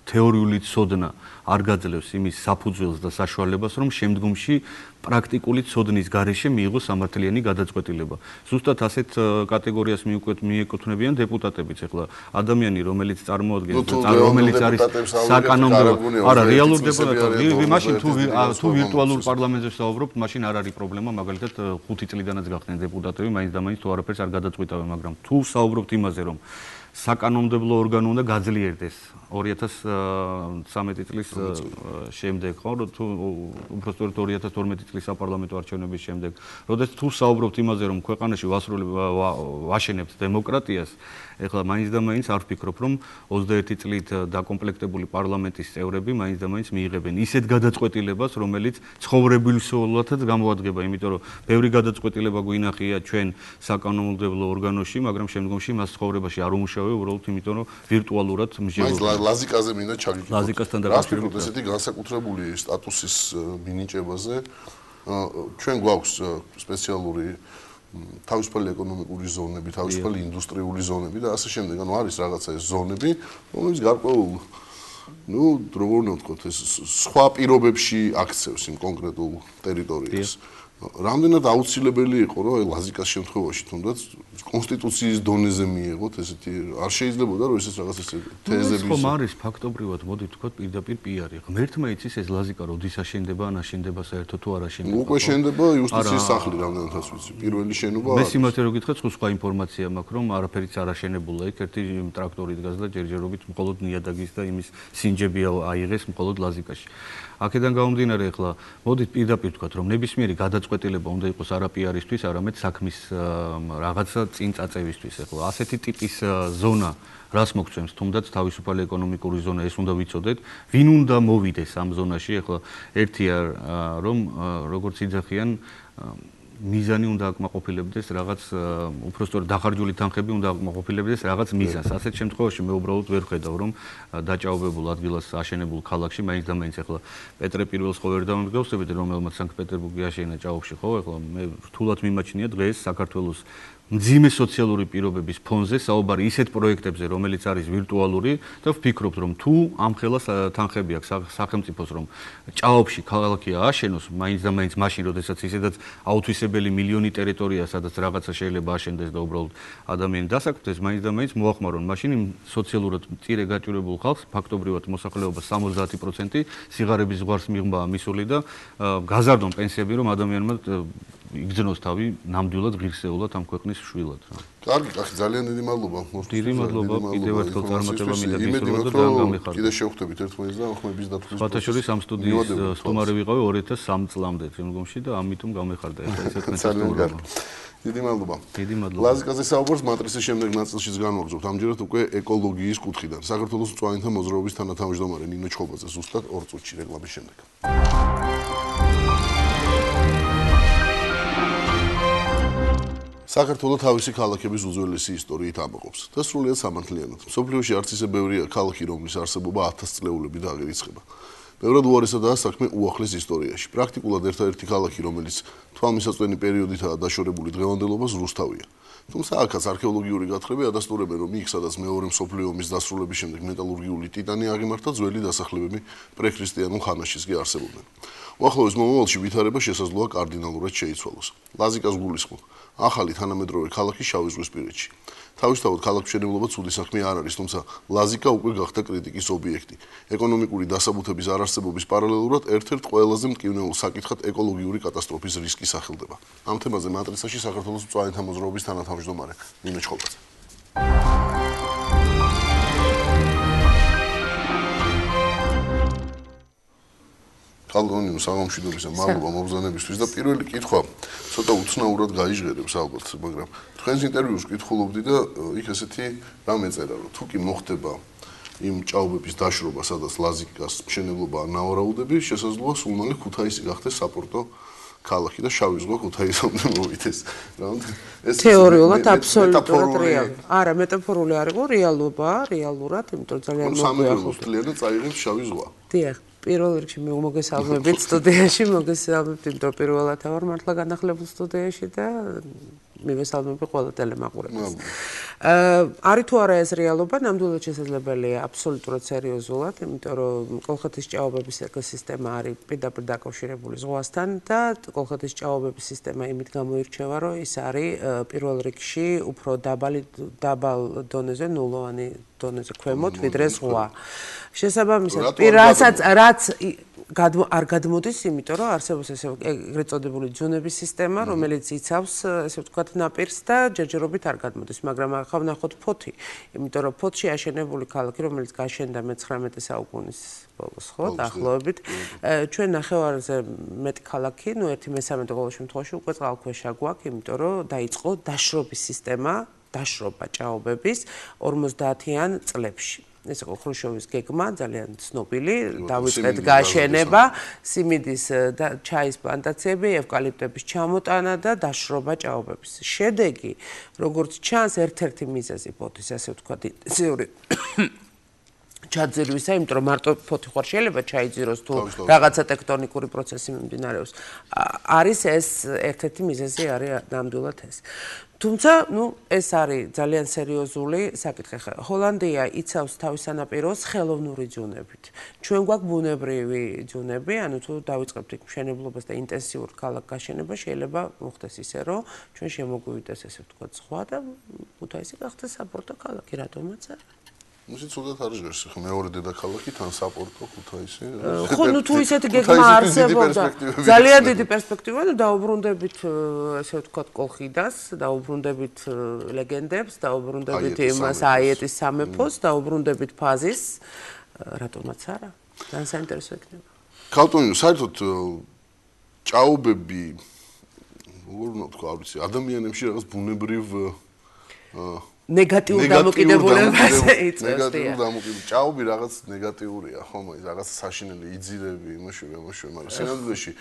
თეორიული ცოდნა არ გაძლევს იმის საფუძველს და საშუალებას, რომ შემდგომში პრაქტიკული ცოდნის გარეშე მიიღოს სამართლიანი გადაწყვეტილება. ზუსტად ასეთ კატეგორიას მიეკუთვნებიან დეპუტატებიც. ეხლა ადამიანი, რომელიც წარმოადგენს და რომელიც არის საკანონმდებლო, არა, რეალურ დეპუტატები, მაშინ თუ თუ ვირტუალურ პარლამენტზე ვსაუბრობთ, მაშინ არ არის პრობლემა, მაგალითად ხუთი წლიდანაც გახდნენ დეპუტატები, მაინც და მაინც თუ არაფერს არ გადაწყვიტავენ, მაგრამ თუ ვსაუბრობთ იმაზე, რომ საკანონმდებლო ორგანო უნდა გაძლიერდეს ორი ათას ცხრამეტი წლის შემდეგ, ხო, თუ უბრალოდ ორი ათას თორმეტი წლის საპარლამენტო არჩევნების შემდეგ, როდესაც თუ საუბრობთ იმაზე, რომ ქვეყანაში ვაშენებთ დემოკრატიას, ეხლა მაინც და მაინც არ ვფიქრობ, რომ ოცდაერთი წლით დაკომპლექტებული პარლამენტის წევრები მაინც და მაინც მიიღებენ ისეთ გადაწყვეტილებას, რომელიც ცხოვრებისეულადაც გამოადგება, იმიტომ რომ ბევრი გადაწყვეტილება გვინახია ჩვენ საკანონმდებლო ორგანოში, მაგრამ შემდგომში მას ცხოვრებაში არ უმუშავე, უბრალოდ იმიტომ რომ ვირტუალურად მსჯელობენ. ლაზიკაზე მინდა ჩაგიგდო. ლაზიკასთან დაკავშირებით ესეთი განსაკუთრებული სტატუსის მინიჭებაზე ჩვენ გვაქვს სპეციალური თავისუფალი ეკონომიკური ზონები, თავისუფალი ინდუსტრიული ზონები და ასე შემდეგ. ანუ არის რაღაცა ეს ზონები, რომელიც გარკვეულ ну, როგორ ვთქვათ, ეს სხვა პირობებში აქცევს იმ კონკრეტულ ტერიტორიას. რამდენად აუცილებელი იყო, რომ აი ლაზიკას შემთხვევაში თუნდაც კონსტიტუციის დონეზე მიიღოთ ესეთი არ შეიძლებოდა რომ ესეც რაღაც ესე თეზები ხომ არის ფაქტობრივად მოდი ვთქვათ პირდაპირ პიარი. ღმერთმა იცის ეს ლაზიკა როდის აშენდება, ან აშენდება საერთოდ თუ არ აშენდება. უკვე შენდება იუსტიციის სახლი რამდენადაც ვიცი. პირველი შენობა მე სიმართლე რო გითხრათ, სხვა ინფორმაცია მაქვს, რომ არაფერიც არ აშენებულა იქ, ერთი ტრაქტორი დგას და ჯერჯერობით მხოლოდ ნიადაგის და იმის სინჯები აიღეს მხოლოდ ლაზიკაში. აქედან გამომდინარე, ახლა მოდით პირდაპირ ვთქვათ, რომ ნებისმიერი გადაწყვეტილება უნდა იყოს არა პიარისთვის, არამედ საქმის რაღაცა წინ წაწევისთვის. ახლა ასეთი ტიპის ზონა რას მოგცემს, თუნდაც თავისუფალი ეკონომიკური ზონა ეს უნდა ვიცოდეთ, ვინ უნდა მოვიდეს ამ ზონაში. ახლა ერთია რომ როგორც იძახიან მიზანი უნდა აკმაყოფილებდეს რაღაც უბრალოდ დახარჯული თანხები უნდა აკმაყოფილებდეს რაღაც მიზანს. ასეთ შემთხვევაში მე უბრალოდ ვერ ხედავ რომ დაჭაობებულ ადგილას აშენებულ ქალაქში მაინც და მაინც ახლა პეტრე პირველს ხო ვერ დავმდგავსებით რომელმაც სანქტ-პეტერბურგი აშენა ჭაობში ხო ახლა მე რთულად მიმაჩნია დღეს საქართველოს მძიმე სოციალური პირობების ფონზე საუბარი ისეთ პროექტებზე, რომელიც არის ვირტუალური და ვფიქრობთ, რომ თუ ამ ხელას თანხები აქვს სახელმწიფოს, რომ ჭაობში ქალაქი ააშენოს, მაინც და მაინც მაშინ, როდესაც ისედაც აუთვისებელი მილიონი ტერიტორია, სადაც რაღაცა შეიძლება აშენდეს და უბრალოდ ადამიანი დასაქმდეს, მაინც და მაინც მოახმარონ. მაშინ იმ სოციალურად მწირე გაჭირებულ ხალხს ფაქტობრივად მოსახლეობის სამოცდაათი პროცენტი სიღარიბის ზღვარს მიღმა მისული და გაზარდონ პენსიები, რომ ადამიანმა იგრძნოს თავი ნამდვილად ღირსეულად ამ ქვეყნის შვილად. კარგი, კახი, ძალიან დიდი მადლობა. დიდი მადლობა, კიდევ ერთხელ წარმატება მინდა გისურვოთ და გამიხარდეთ. კიდე შევხვდებით ერთმანეთს და ხმების დათვლის. ფათაშორის ამ სტუდიის სტუმარი ვიყავი ორი ათას სამი წლამდე შემდგომში და ამიტომ გამიხარდა ეს ერთმანეთს სტუმრობა. დიდი მადლობა. დიდი მადლობა. ლაზიკაზე საუბარს მატრიცის შემდეგ ნაწილშიც განვაგრძობთ. ამჯერად უკვე ეკოლოგიის კუთხიდან. საქართველოს მწვანეთა მოძრაობის თანათავმჯდომარე ნინო ჩხობაძე ზუსტად ორ წუთში რეკლამის შემდეგ. საქართველოს თავისი ქალაქების უძველესი ისტორიით ამაყობს და სრულიად სამართლიანად. მსოფლიოში არც ისე ბევრია ქალაქი, რომლის არსებობა ათასწლეულები დაგერიცხება. ბევრად უარესადაა საქმე უახლეს ისტორიაში. პრაქტიკულად ერთადერთი ქალაქი, რომელიც თვალმისაწვდენი პერიოდითაა დაშორებული დღევანდელობას, რუსთავია. თუმცა აქაც არქეოლოგიური გათხრები ადასტურებენ, რომ იქ, სადაც მეორე მსოფლიო ომის დასრულების შემდეგ მეტალურგიული ტიტანი აღიმართა, ძველი დასახლებები პრექრისტიანულ ხანაშიც კი არსებობდნენ. უახლოეს მომავალში ვითარება შესაძლოა კარდინალურად შეიცვალოს. ლაზიკას გულისხმობ. ახალი თანამედროვე ქალაქი შავიზღვისპირეთში. თავისთავად ქალაქმშენებლობა ცუდი საქმე არ არის, თუმცა ლაზიკა უკვე გახდა კრიტიკის ობიექტი. ეკონომიკური დასაბუთების არარსებობის პარალელურად ერთ-ერთ ყველაზე მტკივნეულ საკითხად ეკოლოგიური კატასტროფის რისკი სახელდება. ამ თემაზე მატრიცაში საქართველოს მწვანეთა მოძრაობის თანათავმჯდომარე ნინო ჩხობაძე. კალგონინო საგამშვიდობისა, მადლობა მობრძანებისთვის და პირველი კითხვა ცოტა უცნაურად გაიჟღერებს ალბათ, მაგრამ თქვენს ინტერვიუს კითხულობდი და იქ ესეთი რამ ეწერა, რომ თუ კი მოხდება იმ ჭაობების დაშრობა, სადაც ლაზიკას მშენებლობა ნავარაუდები, შესაძლოა სულ მალე ქუთაისი გახდეს საპორტო ქალაქი და შავი ზღვა ქუთაისამდე მოვიდეს. ეს თეორიულად აბსოლუტურად რეალია. არა, მეტაფორული არ იყო, რეალობაა, რეალურად, იმიტომ რომ ძალიან მოგვიახლოვდა და წაიღებს შავი ზღვა. დიახ, პირველ რიგში მე მოგესალმებით სტუდიაში, მოგესალმებით, იმიტომ რომ პირველად ვარ მართლა განახლებულ სტუდიაში და მივესალმები ყველა ტელემაყურებელს. არის თუ არა ეს რეალობა, ნამდვილად შესაძლებელია აბსოლუტურად სერიოზულად, იმიტომ რომ კოლხეთის ჭაობების ეკოსისტემა არის პირდაპირ დაკავშირებული ზღვასთან და კოლხეთის ჭაობების სისტემა იმით გამოირჩევა, რომ ის არის პირველ რიგში უფრო დაბალი დაბალ დონეზე, ნულოვანი დონეზე ქვემოთ, ვიდრე ზღვა. შესაბამისად, რასაც რაც არ გადმოდის, იმიტომ რომ არსებობს ესე ეგრეთ წოდებული ძუნების სისტემა, რომელიც იცავს, ესე ვთქვათ, ნაპირს და ჯერჯერობით არ გადმოდის, მაგრამ ახლა ვნახოთ ფოთი, იმიტომ რომ ფოთში აშენებული ქალაქი, რომელიც გაშენდა მეცხრამეტე საუკუნის ბოლოს, ხო, დაახლოებით, ჩვენ ნახევარზე მეტი ქალაქი, ნუ ერთი მესამედი ყოველ შემთხვევაში უკვე წყალქვეშა გვაქვს, იმიტომ რომ დაიწყო დაშრობის სისტემა, დაშრობა ჭაობების ორმოცდაათიან წლებში. ეს იყო ხრუშჩოვის გეგმა, ძალიან ცნობილი, დავიწყეთ გაშენება, სიმინდის და ჩაის პლანტაციები, ევკალიპტების ჩამოტანა და დაშრობა ჭაობების. შედეგი, როგორც ჩანს, ერთ-ერთი მიზეზი ფოთის, ასე ვთქვათ, ინტენსიური ჩაძირვისა, იმიტომ რომ მარტო ფოთი ხარ შეიძლება ჩაიძიროს თუ რაღაცა ტექტონიკური პროცესი მიმდინარეობს. არის ეს ერთ-ერთი მიზეზი არის ნამდვილად ეს. თუმცა, ნუ ეს არის ძალიან სერიოზული საკითხი. ჰოლანდია იცავს თავის სანაპიროს ხელოვნური ძუნებით. ჩვენ გვაქვს ბუნებრივი ძუნები, ანუ თუ დავიწყებთ იქ მშენებლობას და ინტენსიურ ქალაქ გაშენება, შეიძლება მოხდეს ისე, რომ ჩვენ შემოგვივიდეს ესე ვთქვათ ზღვა და ქუთაისი გახდეს საპორტო ქალაქი, რატომაც არა. მუსი ცუდად არ ჟღერს, ხო მეორე დედაქალაქი თან საპორტო ქუთაისი. ხო, ნუ თუ ისეთი გეგმა არსებობდა, ძალიან დიდი პერსპექტივა და დაუბრუნდებით, ესე ვთქვათ, კოლხიდას, დაუბრუნდებით ლეგენდებს, დაუბრუნდებით იმას აიეტის სამეფოს, დაუბრუნდებით ფაზის, რატომაც არა? ძალიან საინტერესო იქნება. ქალტონიო, საერთოდ ჭაობები, როგორ უნდა თქვა, არ ვიცი, ადამიანებში რაღაც ბუნებრივ ნეგატიურ დამოკიდებულებაზე იწევს. ნეგატიურ დამოკიდებულებას. ჭაობი რაღაც ნეგატიურია, ხომ, ის რაღაც საშინელი იძირები, იმაში, იმაში, მაგრამ სინამდვილეში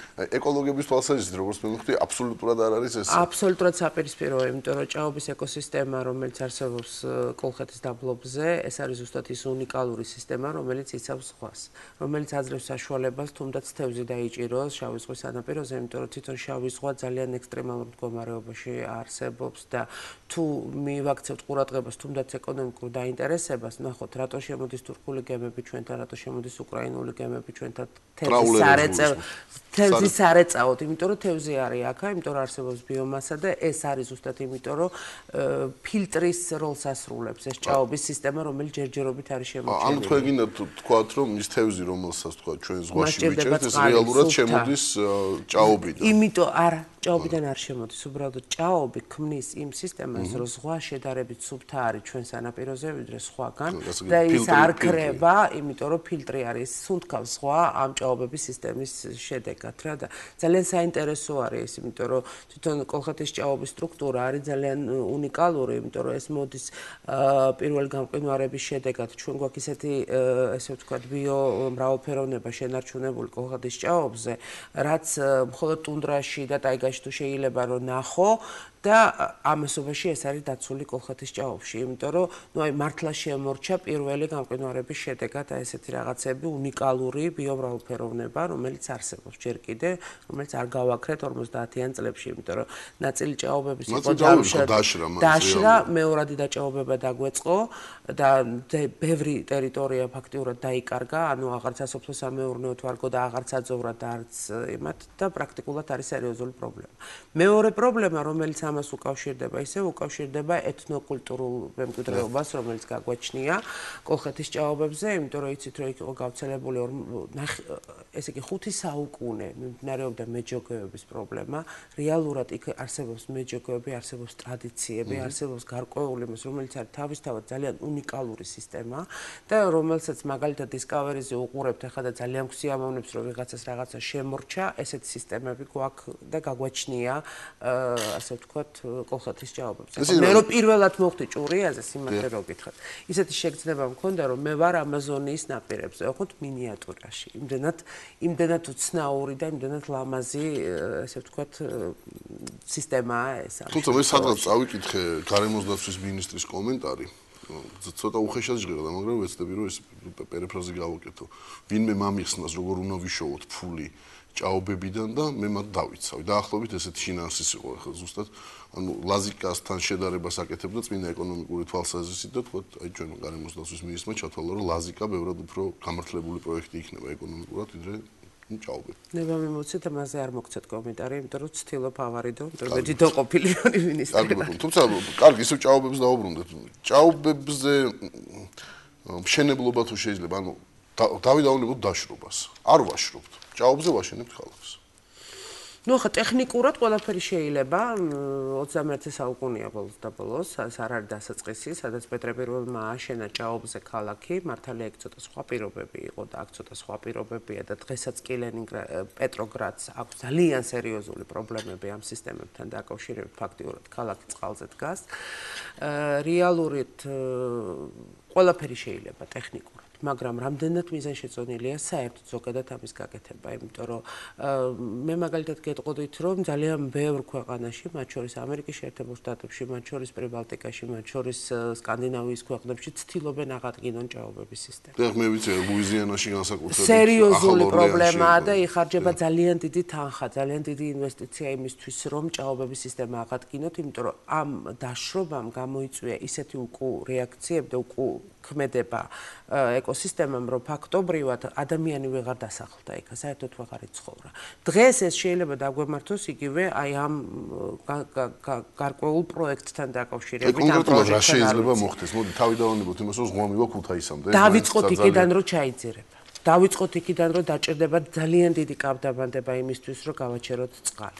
ეკოლოგების თვალსაზრისით, როგორც მე მივხვდი, აბსოლუტურად არ არის ეს. აბსოლუტურად საპირისპიროა, იმიტომ რომ ჭაობის ეკოსისტემა, რომელიც არსებობს კოლხეთის დაბლობზე, ეს არის ზუსტად ის უნიკალური სისტემა, რომელიც იცავს ზღვას, რომელიც აძლევს საშუალებას თუნდაც თევზი დაიჭიროს შავი ზღვის სანაპიროზე, იმიტომ რომ თვითონ შავი ზღვა ძალიან ექსტრემალურ მდგომარეობაში არსებობს და თუ მივაქცევთ ყურადღებას თუნდაც ეკონომიკურ დაინტერესებას, ნახოთ, რატო შემოდის თურქული გემები ჩვენთან, რატო შემოდის უკრაინული გემები ჩვენთან თევზის სარეწაოდ, თევზის სარეწაოდ, იმიტომ რომ თევზი არის აქა, იმიტომ რომ არსებობს ბიომასა და ეს არის ზუსტად იმიტომ რომ ფილტრის როლს ასრულებს ეს ჭაობის სისტემა, რომელიც ჯერჯერობით არის შემოჭრილი. ანუ თქვენ გინდა თქვათ, რომ ის თევზი, რომელსაც თქვა ჩვენ ზღვაში ვიჭერთ, ეს რეალურად შემოდის ჭაობიდან. იმიტომ არა, ჭაობიდან არ შემოდის, უბრალოდ ჭაობი ქმნის იმ სისტემას, რომ ზღვა შედარებით სუფთა არის ჩვენ სანაპიროზე, ვიდრე სხვაგან და ის არ ქრება, იმიტომ რომ ფილტრი არის, სუნთქავს ზღვა ამ ჭაობების სისტემის შედეგად რა და ძალიან საინტერესო არის ეს, იმიტომ რომ თვითონ კოლხეთის ჭაობის სტრუქტურა არის ძალიან უნიკალური, იმიტომ რომ ეს მოდის პირველი გამყინვარების შედეგად. ჩვენ გვაქვს ისეთი, ესე ვთქვათ, ბიომრავალფეროვნება შენარჩუნებული კოლხეთის ჭაობზე, რაც მხოლოდ ტუნდრაში და ტაიგაში თუ შეიძლება რომ ნახო და ამასობაში ეს არის დაცული კოლხეთის ჭაობში, იმიტომ რომ ნუ აი მართლა შემორჩა პირველი გამყინვარების შედეგად აი ესეთი რაღაცები, უნიკალური ბიომრავალფეროვნება, რომელიც არსებობს ჯერ კიდე, რომელიც არ გავაქრეთ ორმოცდაათიან წლებში, იმიტომ რომ ნაწილი ჭაობების იყო დაშრა, მეორადი დაჭაობება დაგვეწყო და ბევრი ტერიტორია ფაქტიურად დაიკარგა, ანუ აღარც სასოფლო-სამეურნეო თვარგო და აღარც აძოვრა და არც იმათ და პრაქტიკულად არის სერიოზული პრობლემა. მეორე პრობლემა, რომელიც ამას უკავშირდება, ისე უკავშირდება ეთნოკულტურულ მემკვიდრეობას, რომელიც გაგვაჩნია კოლხეთის ჭაობებზე, იმიტომ რომ იცით, რომ იქ იყო გავრცელებული ესე იგი ხუთი საუკუნე მიმდინარეობდა მეჯოგეობის პრობლემა. რეალურად იქ არსებობს მეჯოგეები, არსებობს ტრადიციები, არსებობს გარკვეული იმის, რომელიც არის თავისთავად ძალიან უნიკალური სისტემა და რომელსაც მაგალითად დისკავერიზე უყურებთ ახლა და ძალიან გვსიამოვნებს, რომ ვიღაცას რაღაცა შემორჩა, ესეთი სისტემები გვაქვს და გაგვაჩნია გვაჩნია ასე ვთქვათ კოლხეთის ჭაობებზე. მე რომ პირველად მოხდი ჭურიაზე სიმართლე რო გითხრათ. ისეთი შეგრძნება მქონდა რომ მე ვარ ამაზონიის ნაპირებზე, ოღონდ მინიატურაში. იმდენად იმდენად უცნაური და იმდენად ლამაზი ასე ვთქვათ სისტემაა ეს. თუმცა მე სადღაც წავიკითხე გარემოს დაცვის მინისტრის კომენტარი. ცოტა უხეშად ჟღერდა, მაგრამ ვეცდები რომ ეს პერიფრაზი გავაკეთო. ვინმე მამიხსნას როგორ უნდა ვიშოვოთ ფული ჭაობებიდან და მე მათ დავიცავი. დაახლოებით ესეთი შინაარსის იყო ახლა ზუსტად, ანუ ლაზიკასთან შედარებას აკეთებდა წმინდა ეკონომიკური თვალსაზრისით და თქვათ, აი ჩვენ გარემოს დაცვის მინისტრმა ჩათვალა, რომ ლაზიკა ბევრად უფრო გამართლებული პროექტი იქნება ეკონომიკურად, ვიდრე ჭაობები. ნება მიმოცეთ, ამაზე არ მოგცეთ კომენტარი, იმიტომ რომ ცდილობ ავარიდო, იმიტომ რომ მე დიდო ყოფილიონი მინისტრი. კარგი ბატონო, თუმცა კარგი, ისევ ჭაობებს დავუბრუნდეთ. ჭაობებზე მშენებლობა თუ შეიძლება, ანუ დავიდავნებოთ დაშრობას. არ ვაშრობთ. ჭაობზე ვაშენებთ ხალხს. ნუ ხა ტექნიკურად ყველაფერი შეიძლება ოცდამეერთე საუკუნეა ბოლოს და ბოლოს, ეს არ არის დასაწყისი, სადაც პეტრე პირველმა ააშენა ჭაობზე ქალაქი, მართალია იქ ცოტა სხვა პირობები იყო და აქ ცოტა სხვა პირობებია და დღესაც კი ლენინგრად პეტროგრადს აქვს ძალიან სერიოზული პრობლემები ამ სისტემებთან დაკავშირებით, ფაქტიურად ქალაქი წყალზე დგას. რეალურად ყველაფერი შეიძლება ტექნიკურად. მაგრამ რამდენად მიზანშეწონილია საერთოდ ზოგადად ამის გაკეთება, იმიტომ რომ მე მაგალითად გეტყოდით, რომ ძალიან ბევრ ქვეყანაში, მათ შორის ამერიკის შეერთებულ შტატებში, მათ შორის პრიბალტიკაში, მათ შორის სკანდინავიის ქვეყნებში ცდილობენ აღადგინონ ჭაობების სისტემა. და მე ვიცი, ლუიზიანაში განსაკუთრებით სერიოზული პრობლემაა და იხარჯება ძალიან დიდი თანხა, ძალიან დიდი ინვესტიცია იმისთვის, რომ ჭაობების სისტემა აღადგინოთ, იმიტომ რომ ამ დაშრობამ გამოიწვია ისეთი უკუ რეაქციები და უკუ ქმედება ეკოსისტემამ, რომ ფაქტობრივად ადამიანი ვეღარ დასახლდა იქ, საერთოდ ვეღარ იცხოვრა. დღეს ეს შეიძლება დაგვემართოს იგივე აი ამ გარკვეულ პროექტთან დაკავშირებით. კონკრეტულად რა შეიძლება მოხდეს? მოდი თავიდანვანებოთ იმას, რომ ზღვამივა ქუთაისამდე. დავიწყოთ იქიდან, რომ ჩაიძირება. დავიწყოთ იქიდან, რომ დაჭირდება ძალიან დიდი კავდაბანდება იმისთვის, რომ გავაჩეროთ წყალი.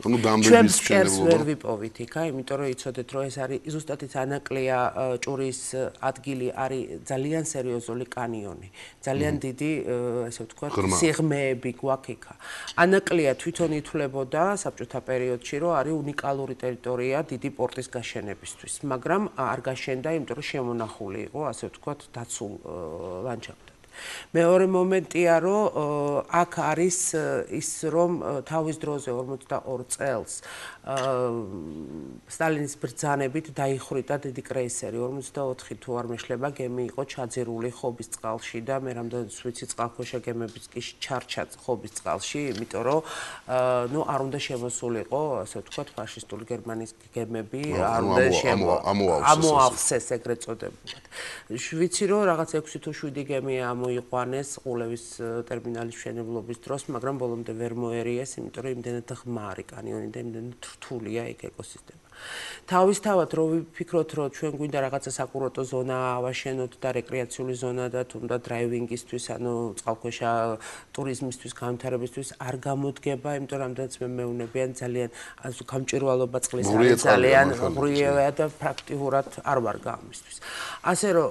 ჩვენ ფსკერს ვერ ვიპოვით იქა, იმიტომ რომ იცოდეთ, რომ ეს არის ზუსტად ის ანაკლია ჭურის ადგილი არის ძალიან სერიოზული კანიონი. ძალიან დიდი, ასე ვთქვათ, სიღრმეები გვაქვს იქა. ანაკლია თვითონ ითვლებოდა საბჭოთა პერიოდში, რომ არის უნიკალური ტერიტორია დიდი პორტის გაშენებისთვის, მაგრამ არ გაშენდა, იმიტომ რომ შემონახული იყო, ასე ვთქვათ, დაცულ ლანდშაფტად. მეორე მომენტია, რომ აქ არის ის, რომ თავის დროზე ორმოცდაორ წელს სტალინის ბრძანებით დაიხრიტა დიდი კრეისერი, ორმოცდაოთხი თუ არ მეშლება გემი იყო ჩაძირული ხობის წყალში და მე რამდენიც ვიცი წყალქვეშა გემებიც კი ჩარჩა ხობის წყალში, იმიტომ რომ ნუ არ უნდა შემოსულიყო, ასე ვთქვათ, ფაშისტული გერმანიის გემები, არ უნდა ამოავსეს ეგრეთ წოდებულად. ვიცი რომ რაღაც ექვსი თუ შვიდი გემი მოიყვანეს ყულევის ტერმინალის მშენებლობის დროს, მაგრამ ბოლომდე ვერ მოერიეს, იმიტომ რომ იმდენად ღმარი კანიონი და იმდენად რთულია იქ ეკოსისტემა. თავისთავად რო ვიფიქროთ, რომ ჩვენ გვინდა რაღაცა საკურორტო ზონა ავაშენოთ და რეკრეაციული ზონა და თუნდა დრაივინგისთვის, ანუ წყალქვეშა ტურიზმისთვის, განვითარებისთვის არ გამოდგება, იმიტომ რომ რამდენიც მე მეუნებიან ძალიან გამჭვირვალობა წყლის არის ძალიან ღრუია და პრაქტიკულად არ ვარ გამისთვის. ასე რომ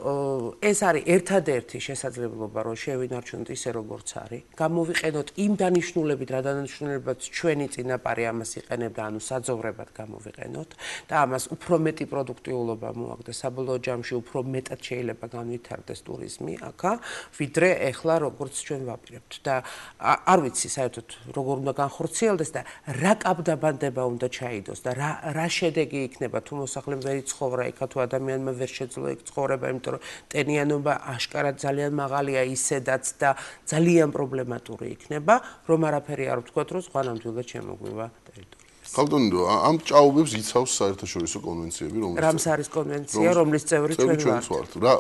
ეს არის ერთადერთი შესაძლებლობა, რომ შევინარჩუნოთ ისე როგორც არის, გამოვიყენოთ იმ დანიშნულებით, რა დანიშნულებაც ჩვენი წინაპარი ამას იყენებდა, ანუ საძოვრებად გამოვიყენოთ და ამას უფრო მეტი პროდუქტიულობა მოაქვს, საბოლოო ჯამში უფრო მეტად შეიძლება განვითარდეს ტურიზმი აქა, ვიდრე ეხლა როგორც ჩვენ ვაპირებთ და არ ვიცი საერთოდ როგორ უნდა განხორციელდეს და რა კაბდაბანდება უნდა ჩაიდოს და რა რა შედეგი იქნება თუ მოსახლემ ვერ იცხოვრა იქა თუ ადამიანმა ვერ შეძლო იქ ცხოვრება, იმიტომ რომ ტენიანობა აშკარად ძალიან მაღალია ისედაც და ძალიან პრობლემატური იქნება, რომ არაფერი არ ვთქვათ, რომ ზღვანამდვილად შემოგვივა ტერიტორია. ხალხონდო, ამ ჭაობებს იცავს საერთაშორისო კონვენციები, რომელიც რამსარის კონვენცია, რომლის წევრი ჩვენ ვართ. რა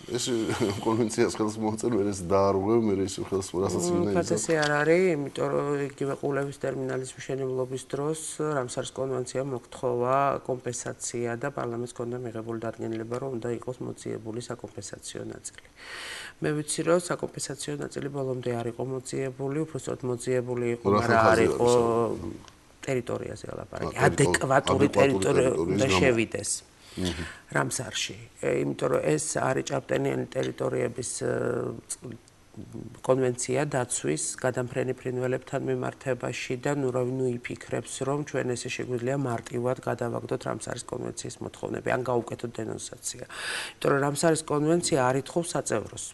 ეს კონვენციას ხელს მოაწერ, მე ეს დაარღვევ, მე ეს ხელს რასაც უნდა იცავს. ფასესი არ არის, იმიტომ რომ იგივე ყულევის ტერმინალის მშენებლობის დროს რამსარის კონვენცია მოგთხოვა კომპენსაცია და პარლამენტს ჰქონდა მიღებული დადგენილება, რომ უნდა იყოს მოძიებული საკომპენსაციო ნაწილი. მე ვიცი, რომ საკომპენსაციო ნაწილი ბოლომდე არ იყო მოძიებული, უბრალოდ მოძიებული იყო, მაგრამ არ იყო ტერიტორიაზე ელაპარაკი, ადეკვატური ტერიტორია უნდა შევიდეს. რამსარში, იმიტომ რომ ეს არის ჭავტენიანი ტერიტორიების კონვენცია დაცვის გადამფრენი ფრინველებთან მიმართებაში და ნუ რა ნუ იფიქრებს რომ ჩვენ ესე შეგვიძლია მარტივად გადავაგდოთ რამსარის კონვენციის მოთხოვნები ან გავუკეთოთ დენონსაცია. იმიტომ რომ რამსარის კონვენცია არ ითხოვს საწევროს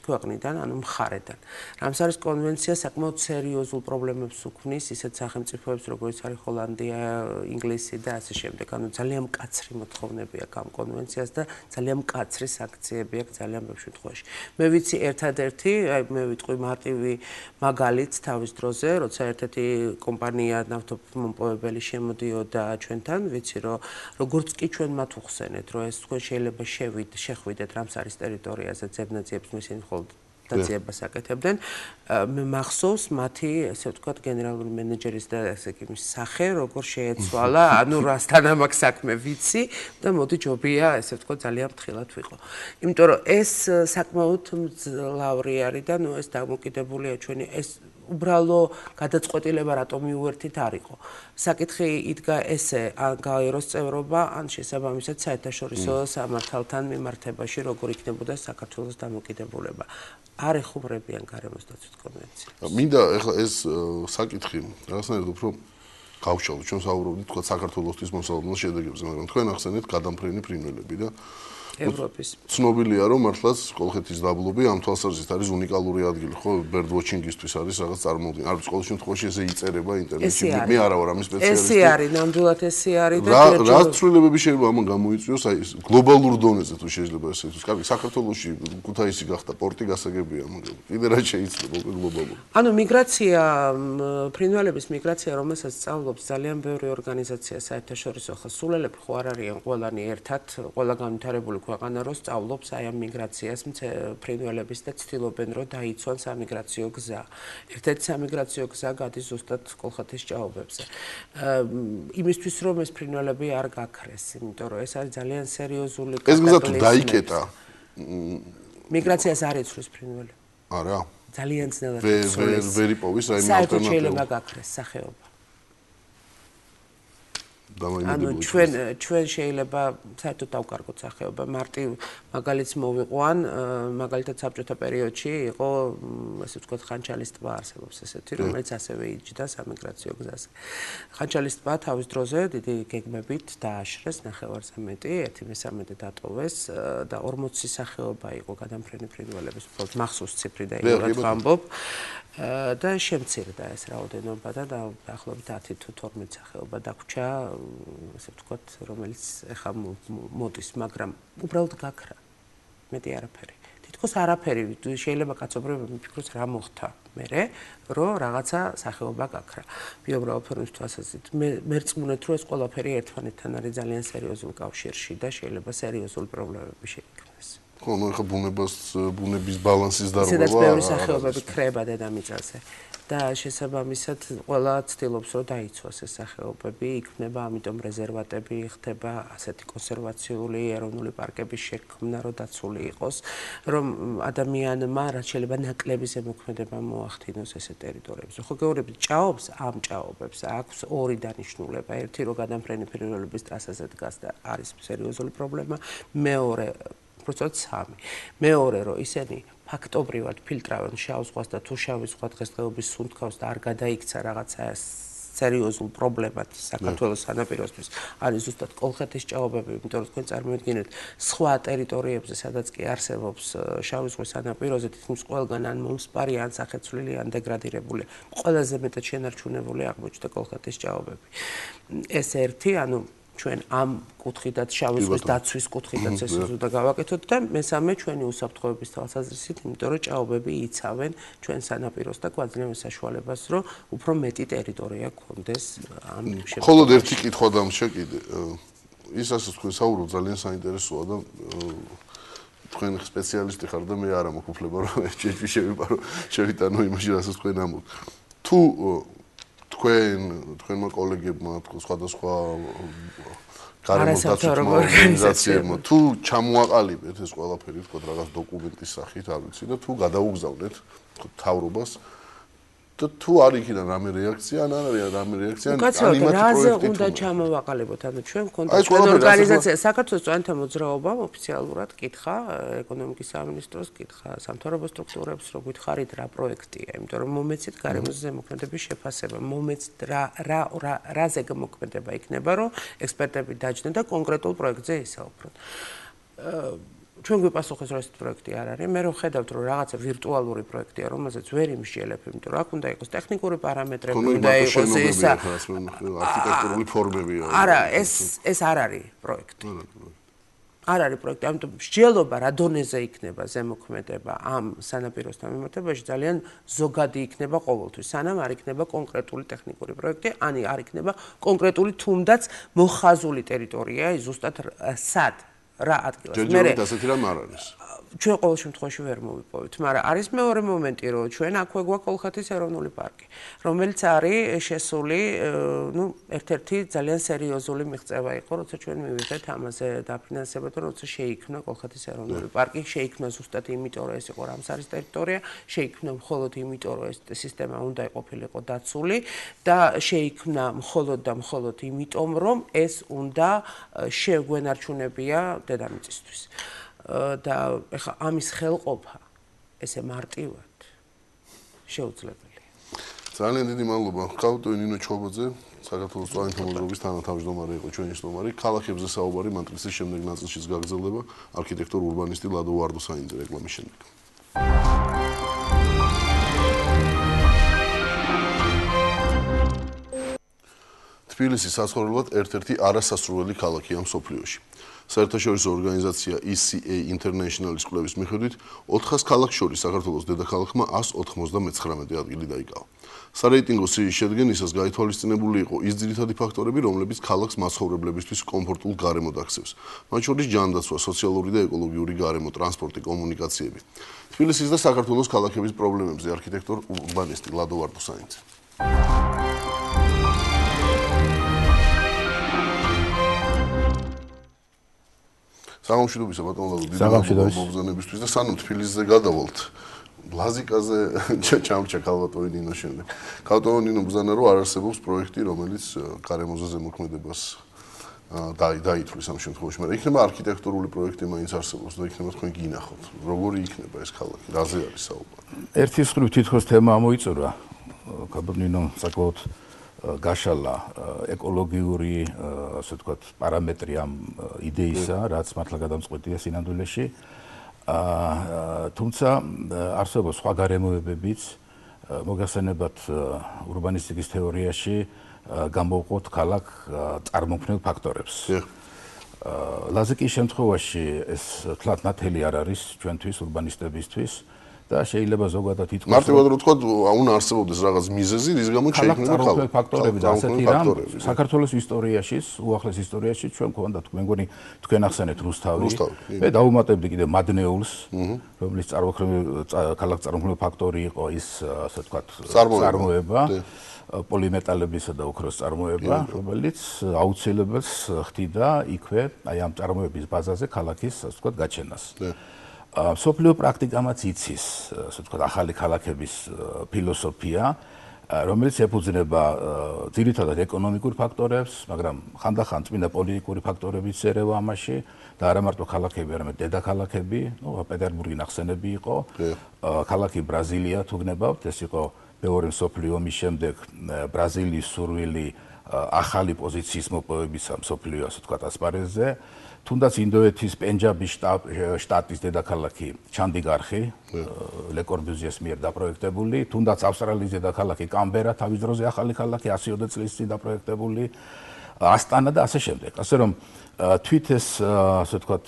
ქვეყნიდან, ანუ მხარედან. რამსარის კონვენცია საკმაოდ სერიოზულ პრობლემებს უქმნის ისეთ სახელმწიფოებს, როგორც არის ჰოლანდია, ინგლისი და ასე შემდეგ. ანუ ძალიან მკაცრი მოთხოვნები აქვს ამ კონვენციას და ძალიან მკაცრი სანქციები აქვს ძალიან ბევრ შემთხვევაში. მე ვიცი ერთადერთი, აი მე ვიტყვი მარტივი მაგალით თავის დროზე, როცა ერთ-ერთი კომპანია ნავთობმომპოვებელი შემოდიოდა ჩვენთან, ვიცი რომ როგორც კი ჩვენ მათ უხსენეთ, რომ ეს თქვენ შეიძლება შეხვიდეთ რამსარის ტერიტორიაზე ძებნაძიებს მისცენ დაციებას აკეთებდნენ. მე მახსოვს მათი, ესე ვთქვათ, გენერალური მენეჯერის და ესე იგი მის სახე, როგორ შეეცვალა, ანუ რასთან ამაქვს საქმე ვიცი და მოდი ჯობია, ესე ვთქვათ, ძალიან ფრთხილად ვიყო. იმიტომ რომ ეს საკმაოდ მძლავრი არის და ნუ ეს დამოკიდებულია ჩვენი ეს უბრალო გადაწყვეტილება რატომ მიუერთით არ იყო. საკითხი იდგა ესე, ან გაეროს წევრობა, ან შესაბამისად საერთაშორისო სამართალთან მიმართებაში, როგორ იქნებოდა საქართველოს დამოკიდებულება. არ ეხუმრებიან გარემოს დაცვის კონვენციას. მინდა ეხლა ეს საკითხი რაღაცნაირად უფრო გავშალოთ. ჩვენ საუბრობდით თქვა საქართველოსთვის მოსალოდნელ შედეგებზე, მაგრამ თქვენ ახსენეთ გადამფრენი ფრინველები და ევროპის. ცნობილია რომ მართლაც კოლხეთის დაბლობი ამ თვალსაზრისით არის უნიკალური ადგილი, ხო, bird watching-ისთვის არის რაღაც წარმოუდგენელი. არის ყოველ შემთხვევაში ესე იწერება ინტერნეტში. მე არა ვარ ამის სპეციალისტი. ესე არის, ნამდვილად ესე არის და რა ცვლილებები შეიძლება ამან გამოიწვიოს, აი გლობალურ დონეზე თუ შეიძლება ესე ითქვას. კარგი, საქართველოში ქუთაისი გახდა პორტი გასაგებია, მაგრამ კიდე რა შეიძლება უკვე გლობალურ. ანუ მიგრაცია, ფრინველების მიგრაცია, რომელსაც სწავლობს ძალიან ბევრი ორგანიზაცია საერთაშორისო, ხო, სულელები ხო არ არიან ყველანი ერთად, ყველა განვითარებული ქვეყანა რო სწავლობს აი ამ მიგრაციას ფრინველების და ცდილობენ რომ დაიცვან სამიგრაციო გზა. ერთ-ერთი სამიგრაციო გზა გადის ზუსტად კოლხეთის ჭაობებზე. იმისთვის რომ ეს ფრინველები არ გაქრეს, იმიტომ რომ ეს არის ძალიან სერიოზული კატაკლიზმი. ეს გზა თუ დაიკეტა, მიგრაციას არ იცვლის ფრინველი. არა. ძალიან ძნელად იცვლის. ვერ იპოვის რაიმე ალტერნატივა. შეიძლება გაქრეს სახეობა. ანუ ჩვენ ჩვენ შეიძლება საერთოდ დავკარგოთ სახეობა. მარტივ მაგალითს მოვიყვან, მაგალითად საბჭოთა პერიოდში იყო, ასე ვთქვათ, ხანჩალის ტბა არსებობს ესეთი, რომელიც ასევე იჯდა სამიგრაციო გზაზე. ხანჩალის ტბა თავის დროზე დიდი გეგმებით დააშრეს, ნახევარზე მეტი, ერთი მესამედი დატოვეს და ორმოცი სახეობა იყო გადამფრენი ფრინველების, უბრალოდ მახსოვს ციფრი და იმურად ვამბობ. და შემცირდა ეს რაოდენობა და დაახლოებით ათი თუ თორმეტი სახეობა დაგვრჩა, ასე ვთქვათ, რომელიც ეხა მოდის, მაგრამ უბრალოდ გაქრა. მეტი არაფერი. თითქოს არაფერი, შეიძლება კაცობრიობა მიფიქროს რა მოხდა მერე, რომ რაღაცა სახეობა გაქრა. ბიოგრაფიული ფორმის თვალსაზრისით მე მერწმუნეთ, რომ ეს ყველაფერი ერთმანეთთან არის ძალიან სერიოზულ კავშირში და შეიძლება სერიოზული პრობლემები შეიქმნას. ხო, ну ეხა ბუნებას, ბუნების ბალანსის დარღვევა. ისედაც ბევრი სახეობები ქრება დედამიწაზე. და შესაბამისად ყველა ცდილობს რომ დაიცვას ეს სახეობები, იქმნება ამიტომ რეზერვატები, ხდება ასეთი კონსერვაციული ეროვნული პარკების შექმნა, რომ დაცული იყოს, რომ ადამიანმა რაც შეიძლება ნაკლები ზემოქმედება მოახდინოს ესე ტერიტორიებზე. ხო გეუბნებით, ჭაობს ამ ჭაობებს აქვს ორი დანიშნულება. ერთი რომ გადამფრენი ფრინველების ტრასაზე დგას და არის სერიოზული პრობლემა, მეორე უბრალოდ სამი. მეორე რომ ისინი ფაქტობრივად ფილტრავენ შავ ზღვას და თუ შავი ზღვა დღესდღეობის სუნთქავს და არ გადაიქცა რაღაცა სერიოზულ პრობლემად საქართველოს სანაპიროსთვის არის ზუსტად კოლხეთის ჭაობები, იმიტომ რომ თქვენ წარმოიდგინეთ სხვა ტერიტორიებზე, სადაც კი არსებობს შავი ზღვის სანაპიროზე თითქმის ყველგან ან მომსპარი, ან სახეცვლილი, ან დეგრადირებული, ყველაზე მეტად შენარჩუნებული აღმოჩნდა კოლხეთის ჭაობები. ეს ერთი, ანუ ჩვენ ამ კუთხიდან შავი ზღვის დაცვის კუთხიდან ეს უნდა გავაკეთოთ და მესამე ჩვენი უსაფრთხოების თვალსაზრისით, იმიტომ რომ ჭაობები იცავენ ჩვენ სანაპიროს და გვაძლევენ საშუალებას, რომ უფრო მეტი ტერიტორია გქონდეს ამ შემთხვევაში. მხოლოდ ერთი კითხვა დამშა კიდე. ის ასე თქვენ საუბრობთ ძალიან საინტერესოა და თქვენ სპეციალისტი ხარ და მე არა მაქვს უფლება რომ ეჭვი შევიპარო, შევიტანო იმაში, რასაც თქვენ ამბობთ. თუ თქვენ თქვენმა კოლეგებმა სხვადასხვა გარემოსდაცვითმა ორგანიზაციებმა თუ ჩამოაყალიბეთ ეს ყველაფერი, თქო რაღაც დოკუმენტის სახით, არ ვიცი და თუ გადაუგზავნეთ მთავრობას და თუ არ იქიდან რამე რეაქცია, ან არ არის რამე რეაქცია, ან იმათი რაზე უნდა ჩამოვაყალიბოთ, ანუ ჩვენ გქონდა ჩვენ ორგანიზაცია საქართველოს წვენთა მოძრაობამ ოფიციალურად კითხა ეკონომიკის სამინისტროს, კითხა სამთავრობო სტრუქტურებს, რო გითხარით რა პროექტია, იმიტომ რომ მომეცით გარემოზე ზემოქმედების შეფასება, მომეცით რა რა რაზე მოქმედება იქნება, რომ ექსპერტები დაჯდნენ და კონკრეტულ პროექტზე ისაუბრონ. ჩვენ გვიპასუხეს რომ ეს პროექტი არ არის. მე რო ხედავთ რომ რაღაცა ვირტუალური პროექტია, რომელზეც ვერ იმშიელებ, იმიტომ რომ აქ უნდა იყოს ტექნიკური პარამეტრები, უნდა იყოს ეს არქიტექტურული ფორმებია. არა, ეს ეს არ არის პროექტი. არ არის პროექტი, ამიტომ მსჯელობა რა დონეზე იქნება ზემოქმედება ამ სანაპიროსთან მიმართებაში ძალიან ზოგადი იქნება ყოველთვის, სანამ არ იქნება კონკრეტული ტექნიკური პროექტი, ან არ იქნება კონკრეტული თუნდაც მოხაზული ტერიტორია, ზუსტად სად რა ადგილას. ჯერჯერობით ასეთი რამ არ არის. ჩვენ ყოველ შემთხვევაში ვერ მოვიპოვეთ, მაგრამ არის მეორე მომენტი, რომ ჩვენ აქვე გვაქვს კოლხეთის ეროვნული პარკი, რომელიც არის შესული, ну, ერთ-ერთი ძალიან სერიოზული მიღწევა იყო, როცა ჩვენ მივიღეთ ამაზე დაფინანსება და როცა შეიქმნა კოლხეთის ეროვნული პარკი, შეიქმნა ზუსტად იმიტომ, რომ ეს იყო რამსარის ტერიტორია, შეიქმნა მხოლოდ იმიტომ, რომ ეს სისტემა უნდა იყოფილიყო დაცული და შეიქმნა მხოლოდ და მხოლოდ იმიტომ, რომ ეს უნდა შეგვენარჩუნებია დედამიწისთვის. და ეხა ამის ხელყოფა ესე მარტივად შეუძლებელია. ძალიან დიდი მადლობა. ხავტო ნინო ჩობოძე, საქართველოს წვანთა მოძრაობის თანათავმჯდომარე იყო ჩვენი სტუმარი. ქალაქებზე საუბარი მანტრისის შემდეგ ნაწილშიც გაგრძელდება არქიტექტორ ურბანისტი ლადო ვარდუსაინძე რეკლამის შემდეგ. თბილისი საცხოვრებლად ერთ-ერთი არასასურველი ქალაქია მსოფლიოში. საერთაშორისო ორგანიზაცია E C A International-ის კვლევის მიხედვით, ოთხას ქალაქს შორის საქართველოს დედაქალაქმა ას ოთხმოცდამეცხრამეტე ადგილი დაიკავა. სარეიტინგო სიის შედგენისას გაითვალისწინებული იყო ის ძირითადი ფაქტორები, რომლებიც ქალაქს მაცხოვრებლებისთვის კომფორტულ გარემოდ აქცევს. მათ შორის ჯანდაცვა, სოციალური და ეკოლოგიური გარემო, ტრანსპორტი, კომუნიკაციები. თბილისის და საქართველოს ქალაქების პრობლემებზე არქიტექტორ ურბანისტი ლადო ვარდუსაინძე. სამშვიდობისა ბატონო ლადო, დიდი მადლობა მოგზაურობისთვის და სანამ თბილისზე გადავალთ, ლაზიკაზე ჩამჭა ქალბატონი ნინო შემდეგ. ქალბატონი ნინო ბრძანა რომ არ არსებობს პროექტი, რომელიც გარემოზე ზემოქმედებას დაითვლის ამ შემთხვევაში, მაგრამ იქნება არქიტექტურული პროექტი მაინც არსებობს და იქნება თქვენ გინახოთ, როგორი იქნება ეს ქალაქი, რაზე არის საუბარი. ერთი მხრივ თითქოს თემა ამოიწურა, ქალბატონი ნინო საკმაოდ გაშალა ეკოლოგიური, ასე ვთქვათ, პარამეტრი ამ იდეისა, რაც მართლა გადამწყვეტია სინამდვილეში. თუმცა არსებობს სხვა გარემოებებიც, მოგახსენებათ ურბანისტიკის თეორიაში გამოვყოთ ქალაქ წარმოქმნილ ფაქტორებს. ლაზიკის შემთხვევაში ეს თლად ნათელი არ არის ჩვენთვის ურბანისტებისთვის. და შეიძლება ზოგადად ითქვას მარტივად რო თქვა უნდა არსებობდეს რაღაც მიზეზი, რის გამო შეიქმნება ქალაქ ფაქტორები და ასეთი რამ საქართველოს ისტორიაში, უახლეს ისტორიაში ჩვენ გვქონდა მე მგონი თქვენ ახსენეთ რუსთავი. მე დავუმატებდი კიდე მადნეულს, რომლის წარმოქმნილ ქალაქ წარმოქმნილ ფაქტორი იყო ის, ასე ვთქვათ, წარმოება, პოლიმეტალებისა და ოქროს წარმოება, რომელიც აუცილებელს ხდიდა იქვე, აი ამ წარმოების ბაზაზე ქალაქის, ასე ვთქვათ, გაჩენას. სოფლიო პრაქტიკამაც იცის, ასე ვთქვათ, ახალი ქალაქების ფილოსოფია, რომელიც ეფუძნება ძირითადად ეკონომიკურ ფაქტორებს, მაგრამ ხანდახან წმინდა პოლიტიკური ფაქტორებიც ერევა ამაში და არა მარტო ქალაქები, არამედ დედაქალაქები, ნუ პეტერბურგი ნახსენები იყო, ქალაქი ბრაზილია თუ გნებავთ, ეს იყო მეორე მსოფლიო ომის შემდეგ ბრაზილიის სურვილი ახალი პოზიციის მოპოვების მსოფლიო, ასე ვთქვათ, ასპარეზზე. თუნდაც ინდოეთის პენჯაბის შტატის დედაქალაქი ჩანდგარხი, ლე კორბუზიეს მიერ დაპროექტებული, თუნდაც ავსტრალიის დედაქალაქი კამბერა, თავის დროზე ახალი ქალაქი ასი ოცდაათი წლის წინ დაპროექტებული, ასტანა და ასე შემდეგ. ასე რომ თვით ეს, ასე ვთქვათ,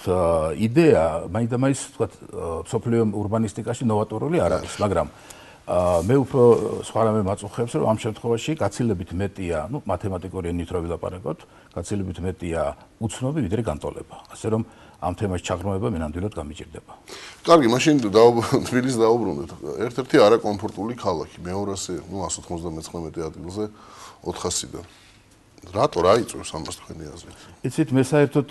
იდეა მაინდამაინც, ვთქვათ, მსოფლიო ურბანისტიკაში ნოვატორული არ არის, მაგრამ მე უფრო სხვა რამე მაწუხებს, რომ ამ შემთხვევაში გაცილებით მეტია, ну, მათემატიკური ენით რო ვილაპარაკოთ, გაცილებით მეტია უცნობი, ვიდრე განტოლება. ასე რომ ამ თემაში ჩაღრმავება მე ნამდვილად გამიჭირდება. კარგი, მაშინ თბილისს დაუბრუნდეთ. ერთ-ერთი არაკომფორტული ქალაქი, მეორასე, ну, ას ოთხმოცდამეცხრამეტე ადგილზე ოთხასიდან. რატო რა იწვევს ამას თქვენი აზრით? იცით, მე საერთოდ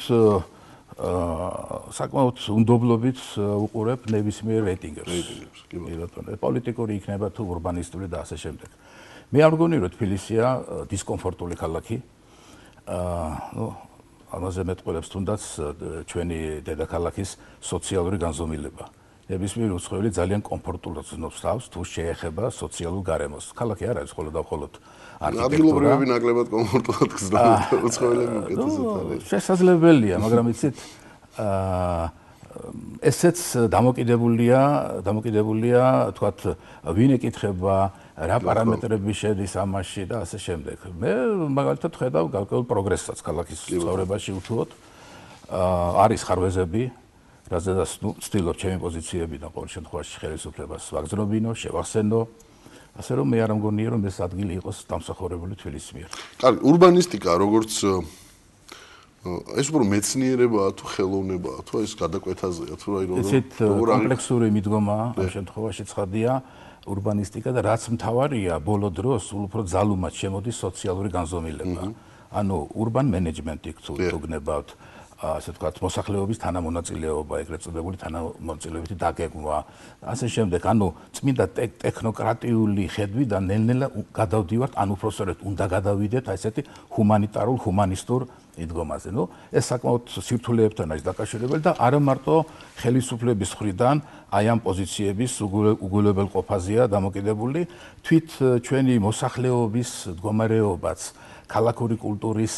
აა საკმაოდ უნდობლობით უყურებ ნებისმიერ რეიტინგებს. კი ბატონო, პოლიტიკური იქნება თუ ურბანისტული და ასე შემდეგ. მე არ მგონი რომ თბილისია დისკომფორტული ქალაქი. აა ნუ ამაზე მეტყველებს თუნდაც ჩვენი დედაქალაქის სოციალური განზომილება. ნებისმიერ უცხოელი ძალიან კომფორტულად ზნობს თავს თუ შეეხება სოციალურ გარემოს. ქალაქი არ არის მხოლოდ და მხოლოდ არქიტექტურა. ადგილობრივები ნაკლებად კომფორტულად გზნობენ უცხოელები უკეთესად არის. შესაძლებელია, მაგრამ იცით აა ესეც დამოკიდებულია, დამოკიდებულია, თქვათ, ვინ ეკითხება, რა პარამეტრები შედის ამაში და ასე შემდეგ. მე მაგალითად ხედავ გარკვეულ პროგრესსაც ქალაქის ცხოვრებაში უთუოდ. აა არის ხარვეზები, რაზედაც ნუ ვცდილობ ჩემი პოზიციებიდან ყოველ შემთხვევაში ხელისუფლებას ვაგრძნობინო, შევახსენო. ასე რომ მე არ მგონია რომ ეს ადგილი იყოს დამსახურებული თბილისის მიერ. კარგი, ურბანისტიკა როგორც ეს უფრო მეცნიერებაა თუ ხელოვნებაა თუ ეს გადაკვეთაზეა თუ რა იყო ისეთ კომპლექსური მიდგომაა ამ შემთხვევაში ცხადია ურბანისტიკა და რაც მთავარია ბოლო დროს უფრო ძალუმად შემოდის სოციალური განზომილება. ანუ urban management-ი თუ გნებავთ ასე ვთქვათ, მოსახლეობის თანამონაწილეობა, ეგრეთ წოდებული თანამონაწილეობითი დაგეგმვა, ასე შემდეგ, ანუ წმინდა ტექნოკრატიული ხედვიდან ნელ-ნელა გადავდივართ, ან უпроსტოდ უნდა გადავიდეთ აი ესეთი ჰუმანიტარულ, ჰუმანისტურ მიდგომაზე. ნუ ეს საკმაოდ სირთულეებთან არის დაკავშირებული და არა მარტო ხელისუფლების მხრიდან აი ამ პოზიციების უგულებელყოფაზეა დამოკიდებული, თვით ჩვენი მოსახლეობის მდგომარეობაც ქალაქური კულტურის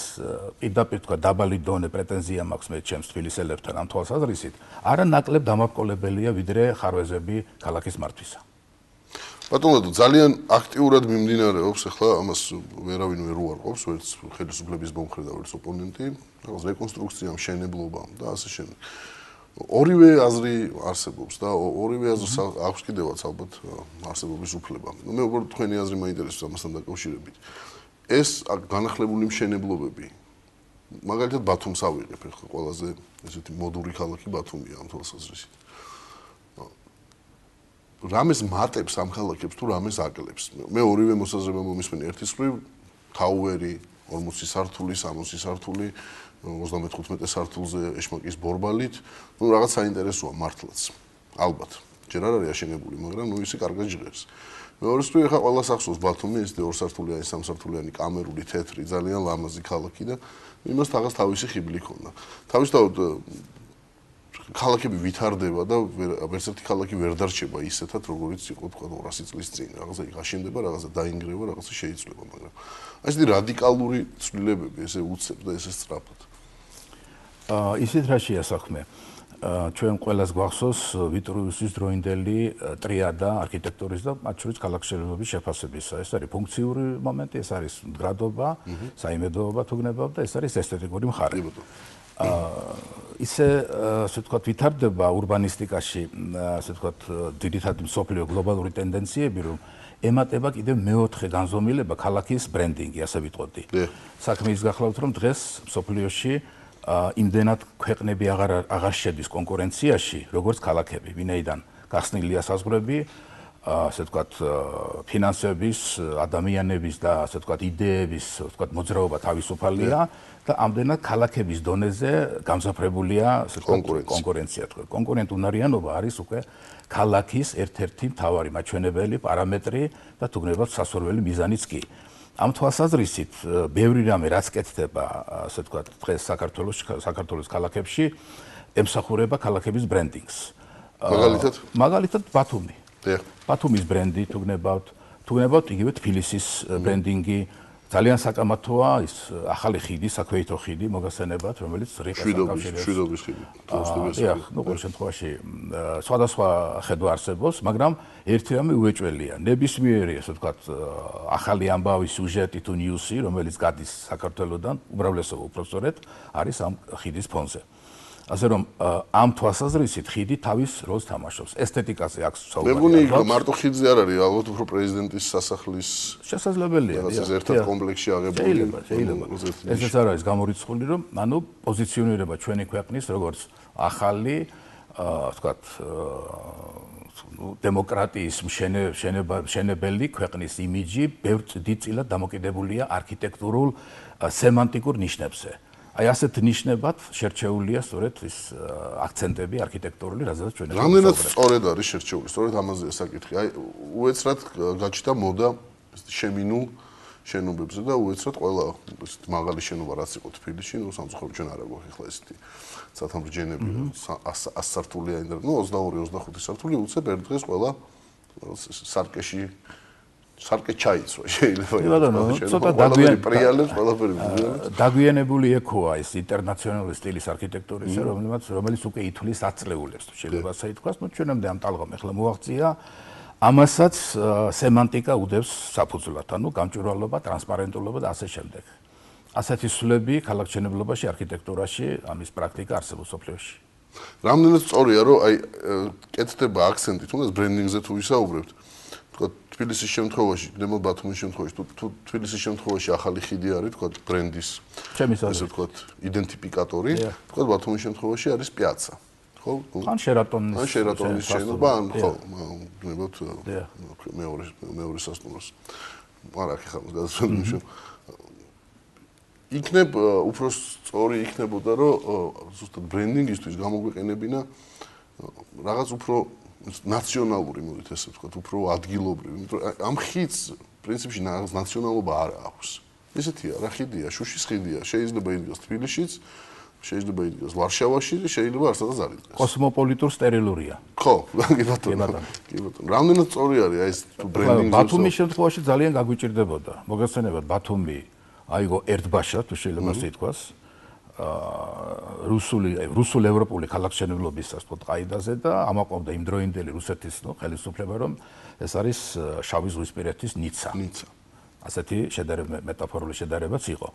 პირდაპირ თქვა დაბალი დონე პრეტენზია მაქვს მე ჩემს თბილისელებთან ამ თვალსაზრისით არა ნაკლებ დამაკოლებელია ვიდრე ხარვეზები ქალაქის მართვისა. ბატონო ძალიან აქტიურად მიმდინარეობს ახლა ამას ვერავინ ვერ უარყოფს ვერც ხელისუფლების მომხრე და ვერც ოპონენტი რაღაც რეკონსტრუქციამ შენებლობამ და ასე შემდეგ. ორივე აზრი არსებობს და ორივე აზრს აქვს კიდევაც ალბათ არსებობის უფლება. მე უბრალოდ თქვენი აზრი მაინტერესებს ამასთან დაკავშირებით. ეს განახლებული მშენებლობები მაგალითად ბათუმს ავიღებ ახლა ყველაზე ესეთი მოდური ქალაქი ბათუმია ამ თვალსაზრისით. რამეს მატებს ამ ქალაქებს თუ რამეს აკლებს. მე ორივე მოსაზრება მომისმენი ერთის მხრივ თაუერი ორმოცი სართული, სამოცი სართული, ოცდამეთოთხმეტე სართულზე ეშმაკის ბორბალით, ნუ რაღაც საინტერესოა მართლაც. ალბათ. ჯერ არ არის აშენებული, მაგრამ ნუ ისე კარგად ჟღერს. მეორე მხრივ ახლა ყველა სახსოვს ბათუმი ეს ორსართულიანი, სამსართულიანი კამერული თეთრი ძალიან ლამაზი ქალაქი და იმას თაღას თავისი ხიბლი ჰქონდა. თავისთავად ქალაქები ვითარდება და ვერც ერთი ქალაქი ვერ დარჩება ისეთად როგორიც იყო თქვა ორასი წლის წინ. რაღაცა იღაშენდება, რაღაცა დაინგრევა, რაღაცა შეიცვლება, მაგრამ აი ესეთი რადიკალური ცვლილებები ესე უცებ და ესე სწრაფად. აა ისეთ რაშია საქმე. ჩვენ ყველას გვახსოვს ვიტრუვიუსის დროინდელი ტრიადა არქიტექტურის და მათ შორის ქალაქშენებების შეფასებისა. ეს არის ფუნქციური მომენტი, ეს არის მდგრადობა, საიმედოობა თუ გნებავთ და ეს არის ესთეტიკური მხარე. აა ისე ასე ვთქვათ ვითარდება ურბანისტიკაში, ასე ვთქვათ ძირითადი მსოფლიო გლობალური ტენდენციები, რომ ემატება კიდევ მეოთხე განზომილება ქალაქის ბრენდინგი, ასე ვიტყოდი. საქმე ის გახლავთ, რომ დღეს მსოფლიოში იმდენად ქვეყნები აღარ აღარ შედის კონკურენციაში, როგორც ქალაქები, ვინაიდან გახსნილია საზღვრები, ასე ვთქვათ, ფინანსების, ადამიანების და ასე ვთქვათ, იდეების, ვთქვათ, მოძრაობა თავისუფალია და ამდენად ქალაქების დონეზე გამზაფრებულია, ასე ვთქვათ, კონკურენცია. კონკურენტუნარიანობა არის უკვე ქალაქის ერთ-ერთი მთავარი მაჩვენებელი პარამეტრი და თუ გნებავთ სასურველი მიზანიც კი. ამ თვალსაზრისით ბევრი რამე რაც კეთდება, ასე ვთქვათ, დღეს საქართველოს საქართველოს ქალაქებში ემსახურება ქალაქების ბრენდინგს. მაგალითად? მაგალითად ბათუმი. ბათუმის ბრენდი თუ გნებავთ, თუ გნებავთ იგივე თბილისის ბრენდინგი. ძალიან საკამათოა ის ახალი ხიდი, საქვეითო ხიდი მოგასცენებათ, რომელიც რიყას აკავშირებს. შვიდობის ხიდი. დიახ, ნუ ყოველ შემთხვევაში სხვადასხვა ხედვა არსებობს, მაგრამ ერთი რამე უეჭველია. ნებისმიერი, ასე ვთქვათ, ახალი ამბავი, სიუჟეტი თუ ნიუსი, რომელიც გადის საქართველოსდან, უმრავლესობა უпроსტოდ არის ამ ხიდის ფონზე. ასე რომ ამ თვალსაზრისით ხიდი თავის როლს თამაშობს. ესთეტიკაზე აქვს საუბარი. მე მგონი მარტო ხიდზე არ არის, ალბათ უფრო პრეზიდენტის სასახლის შესაძლებელია. ეს ერთ კომპლექსში აღებული. შეიძლება, შეიძლება. ესეც არ არის გამორიცხული, რომ ანუ პოზიციონირება ჩვენი ქვეყნის როგორც ახალი, ვთქვათ, დემოკრატიის მშენებელი ქვეყნის იმიჯი ბევრ დიდწილად დამოკიდებულია არქიტექტურულ სემანტიკურ ნიშნებზე. აი ასეთ ნიშნებად შერჩეულია სწორედ ის აქცენტები არქიტექტურული, რაზეც ჩვენ რამდენად სწორედ არის შერჩეული, სწორედ ამაზეა საკითხი. აი უეცრად გაჩნდა მოდა შემინულ შენობებზე და უეცრად ყველა ესეთ მაღალი შენობა რაც იყო თბილისში, ნუ სამწუხაროდ ჩვენ არ აგვაქვს ახლა ესეთი სათამბჯენები ას სართულიანი და ნუ ოცდაორი ოცდახუთი სართული უცებ ერთ დღეს ყველა სარკეში სარკე ჩაიცვა შეიძლება ცოტა დაგვიანებული ექოა ეს ინტერნაციონალური სტილის არქიტექტურის რომელიც რომელიც უკვე ითვლის აწლეულებს შეიძლება ასე ითქვას ნუ ჩვენამდე ამ ტალღამ ახლა მოაღწია ამასაც სემანტიკა უდევს საფუძვლად ანუ გამჭვირვალობა ტრანსპარენტულობა და ასე შემდეგ ასეთი სულები ქალაქმშენებლობაში არქიტექტურაში ამის პრაქტიკა არსებობს სოფლიოში რამდენად სწორია რომ აი კეთდება აქცენტი თუნდაც ბრენდინგზე თუ ვისაუბრებთ თბილისის შემთხვევაში, ნემო ბათუმის შემთხვევაში, თუ თბილისის შემთხვევაში ახალი ხიდი არის, თქვა ბრენდის, ესე ვთქვა, identifikატორი, თქვა ბათუმის შემთხვევაში არის პიაცა. ხო? ან შერატონის ან შერატონის შენობა, ან ხო, გნებოთ მეორე მეორე სასტუმროს. არა, ხახავს გადასვენებაში. იქნებ უფრო სწორი იქნებოდა, რომ ზუსტად ბრენდინგისთვის გამოგვეყენებინა რაღაც უფრო ნაციონალური მოდით ესე ვთქვათ, უფრო ადგილობრივი, იმიტომ რომ ამ ხიდს პრინციპში ნაციონალობა არ აქვს. ესეთია, რა ხიდია, შუშის ხიდია, შეიძლება იდგას თბილისშიც, შეიძლება იდგას ვარშავაში და შეიძლება არცადაც არ იდგას. კოსმოპოლიტურ სტერილურია. ხო, კი ბატონო. კი ბატონო. რამდენად სწორი არის აი ეს ბრენდინგზე? ბათუმის შემთხვევაში ძალიან გაგვიჭირდებოდა. მოგესწრებათ, ბათუმი აიგო ერთბაშად, თუ შეიძლება ასე ითქვას. რუსული რუსულ ევროპული ქალაქმშენებლობისას თქო ყაიდაზე და ამაყობდა იმ დროინდელი რუსეთის ნუ ხელისუფლება რომ ეს არის შავი ზღვისპირეთის ნიცა. ნიცა. ასეთი შედარება მეტაფორული შედარებაც იყო.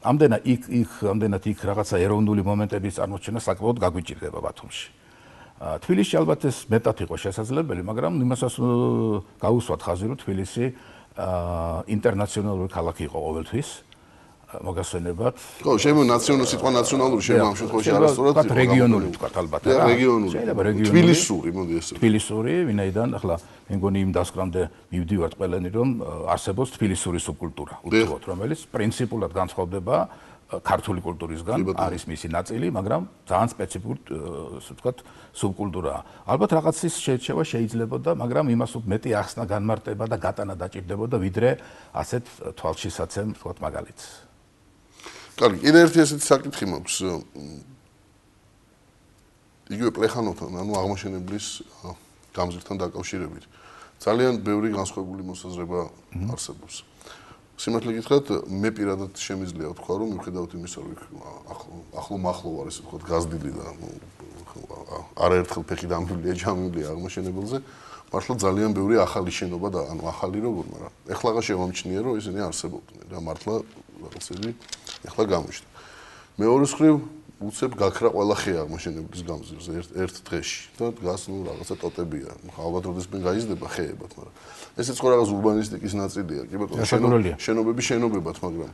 ამდენად იქ იქ ამდენად იქ რაღაცა ეროვნული მომენტების წარმოჩენა საკმაოდ გაგვიჭირდება ბათუმში. თბილისში ალბათ ეს მეტად იყო შესაძლებელი, მაგრამ იმასაც გაუსვათ ხაზი რომ თბილისი ინტერნაციონალური ქალაქი იყო ყოველთვის. მოგასვენებათ. ხო, შემო ნაციონალური სიტყვა ნაციონალური შემო ამ შემთხვევაში არასწორად იყო. რეგიონული ვთქვათ ალბათ რა. რეგიონული. შეიძლება რეგიონული. თბილისური, მოდი ესე. თბილისური, ვინაიდან ახლა მე მგონი იმ დასკვნამდე მივდივართ ყველანი რომ არსებობს თბილისური სუბკულტურა, უბრალოდ რომელიც პრინციპულად განსხვავდება ქართული კულტურისგან, არის მისი ნაწილი, მაგრამ ძალიან სპეციფიკური ასე ვთქვათ სუბკულტურაა. ალბათ რაღაცის შეჩევა შეიძლებოდა, მაგრამ იმას უფრო მეტი ახსნა განმარტება და გატანა დაჭირდებოდა, ვიდრე ასეთ თვალშისაცემ ვთქვათ მაგალითს. კარგი, კიდე ერთი ესეთი საკითხი მაქვს. იგივე პლეხანოვთან, ანუ აღმაშენებლის გამზირთან დაკავშირებით. ძალიან ბევრი განსხვავებული მოსაზრება არსებობს. სიმართლე გითხრათ, მე პირადად შემიძლია ვთქვა, რომ მიუხედავად იმისა, რომ ახლო მახლო არ ესე ვთქვათ, გაზრდილი და არაერთხელ ფეხი დამბლია, ჯამბლია აღმაშენებელზე, მართლა ძალიან ბევრი ახალი შენობა და ანუ ახალი როგორ, მაგრამ ეხლა შევამჩნია, რომ ისინი არსებობდნენ და მართლა რაღაცები ეხლა გამოჩნდა. მეორე მხრივ უცებ გაქრა ყველა ხე აღმაშენებლის გამზირზე ერთ ერთ დღეში და დგას ნუ რაღაცა ტოტებია. ალბათ როდეს მე გაიზრდება ხეებად, მაგრამ ესეც ხო რაღაც ურბანისტიკის ნაწილია, კი ბატონო, შენობები შენობებად, მაგრამ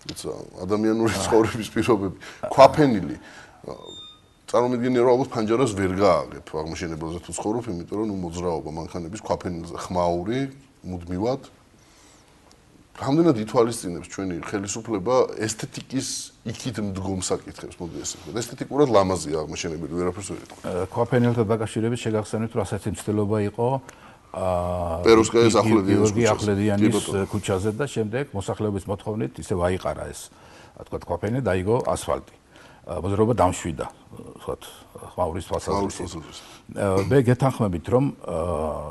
თუმცა ადამიანური ცხოვრების პირობები, ქვაფენილი წარმოვიდგინე რომ ალბათ ფანჯარას ვერ გააგებ აღმაშენებელზე თუ ცხოვრობ, იმიტომ რომ ნუ მოძრაობა მანქანების ქვაფენილზე ხმაური მუდმივად რამდენად ითვალისწინებს ჩვენი ხელისუფლება ესთეტიკის იქით მდგომ საკითხებს, მოდი ესე ვთქვათ. ესთეტიკურად ლამაზია აღმაშენებელი, ვერაფერს ვერ იტყვი. ქვაფენილთან დაკავშირებით შეგახსენებთ, რომ ასეთი მცდელობა იყო აა პეროვსკაიის ახვლედიანის ქუჩაზე და შემდეგ მოსახლეობის მოთხოვნით ისე ვაიყარა ეს, თქვა ქვაფენილი დაიგო ასფალტი. მოძრაობა დამშვიდა, ვთქვათ, ხმაურის თვალსაზრისით. მე გეთანხმებით, რომ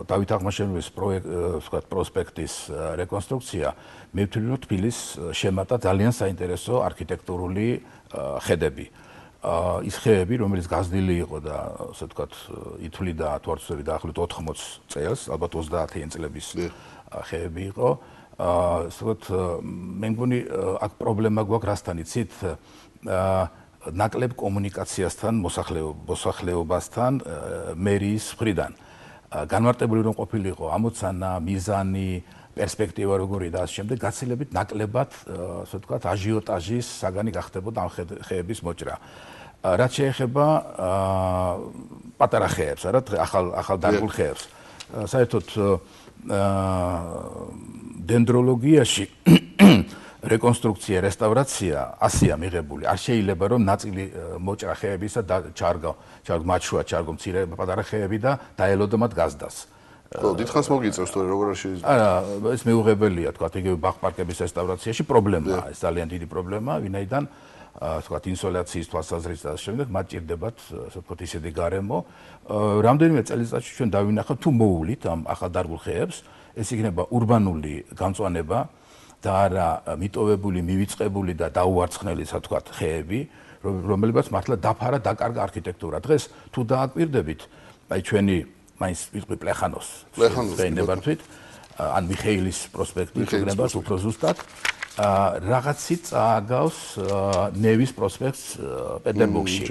დავით აღმაშენებლის ვთქვათ, პროსპექტის რეკონსტრუქცია მე ვთვლი, რომ თბილის შემატა ძალიან საინტერესო არქიტექტურული ხედები. ის ხეები, რომელიც გაზრდილი იყო და ასე ვთქვათ, ითვლიდა თვარცხვევი დაახლოებით ოთხმოც წელს, ალბათ ოცდაათი წლების ხეები იყო. ასე ვთქვათ, მე მგონი აქ პრობლემა გვაქვს რასთან იცით? ნაკლებ კომუნიკაციასთან, მოსახლეობასთან, მერიის მხრიდან. განმარტებული რომ ყოფილიყო ამოცანა, მიზანი, პერსპექტივა როგორი და ამ შემდეგ გაცილებით ნაკლებად, ასე ვთქვათ, აჟიოტაჟის საგანი გახდებოდა ამ ხეების მოჭრა. რაც შეეხება პატარა ხეებს, არა, ახალ ახალ დარგულ ხეებს. საერთოდ დენდროლოგიაში რეკონსტრუქცია, რესტავრაცია ასია მიღებული. არ შეიძლება რომ ნაწილი მოჭრა ხეებისა და ჩარგო, ჩარგო მაჩშუა, ჩარგო მცირე პატარა ხეები და დაელოდო მათ გაზდას. ხო, დიდხანს მოგიწევს თორე როგორ არ შეიძლება. არა, ეს მეუღებელია, თქვა, იგივე ბაღ-პარკების რესტავრაციაში პრობლემაა, ეს ძალიან დიდი პრობლემაა, ვინაიდან თქვა, ინსოლაციის თვალსაზრისით და შემდეგ მათ ჭირდებათ, ასე ვთქვათ, ისეთი გარემო. რამდენიმე წელიწადში ჩვენ დავინახავთ, თუ მოუვლით ამ ახალდარგულ ხეებს, ეს იქნება ურბანული გამწვანება და არა მიტოვებული, მივიწყებული და დაუარცხნელი, ასე ვთქვათ, ხეები, რომლებიც მართლა დაფარა, დაკარგა არქიტექტურა. დღეს თუ დააკვირდებით, აი ჩვენი მაინც ვიყვი პლეხანოს ვენებართვით ან მიხეილის პროსპექტი ვენებართ უფრო ზუსტად რაღაცით წააგავს ნევის პროსპექტს პეტერბურგში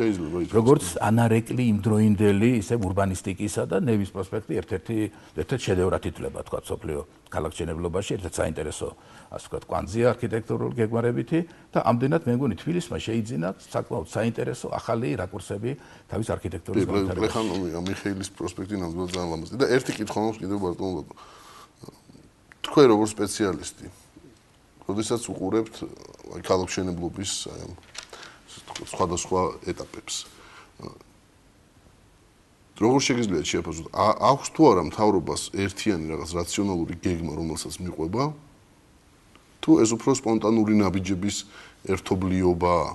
როგორც ანარეკლი იმდროინდელი ისე ურბანისტიკისა და ნევის პროსპექტი ერთ-ერთი ერთ-ერთი შედევრად ითვლება თქვა სოფლიო ქალაქჩენებლობაში ერთ-ერთი საინტერესო ასე ვთქვათ კვანძია არქიტექტურული გეგმარებითი და ამდენად მე მგონი თბილისმა შეიძინა საკმაოდ საინტერესო ახალი რაკურსები თავის არქიტექტურის განვითარებაში. პლეხანოვი მიხეილის პროსპექტი ნამდვილად ძალიან ლამაზია და ერთი კითხვა მაქვს კიდევ ბარტონო თქვენ როგორც სპეციალისტი როდესაც უყურებთ აი ქალაქმშენებლობის აი ამ სხვადასხვა ეტაპებს როგორ შეგიძლიათ შეაფასოთ აქვს თუ არა მთავრობას ერთიანი რაღაც რაციონალური გეგმა რომელსაც მიყვება თუ ეს უფრო სპონტანური ნაბიჯების ერთობლიობაა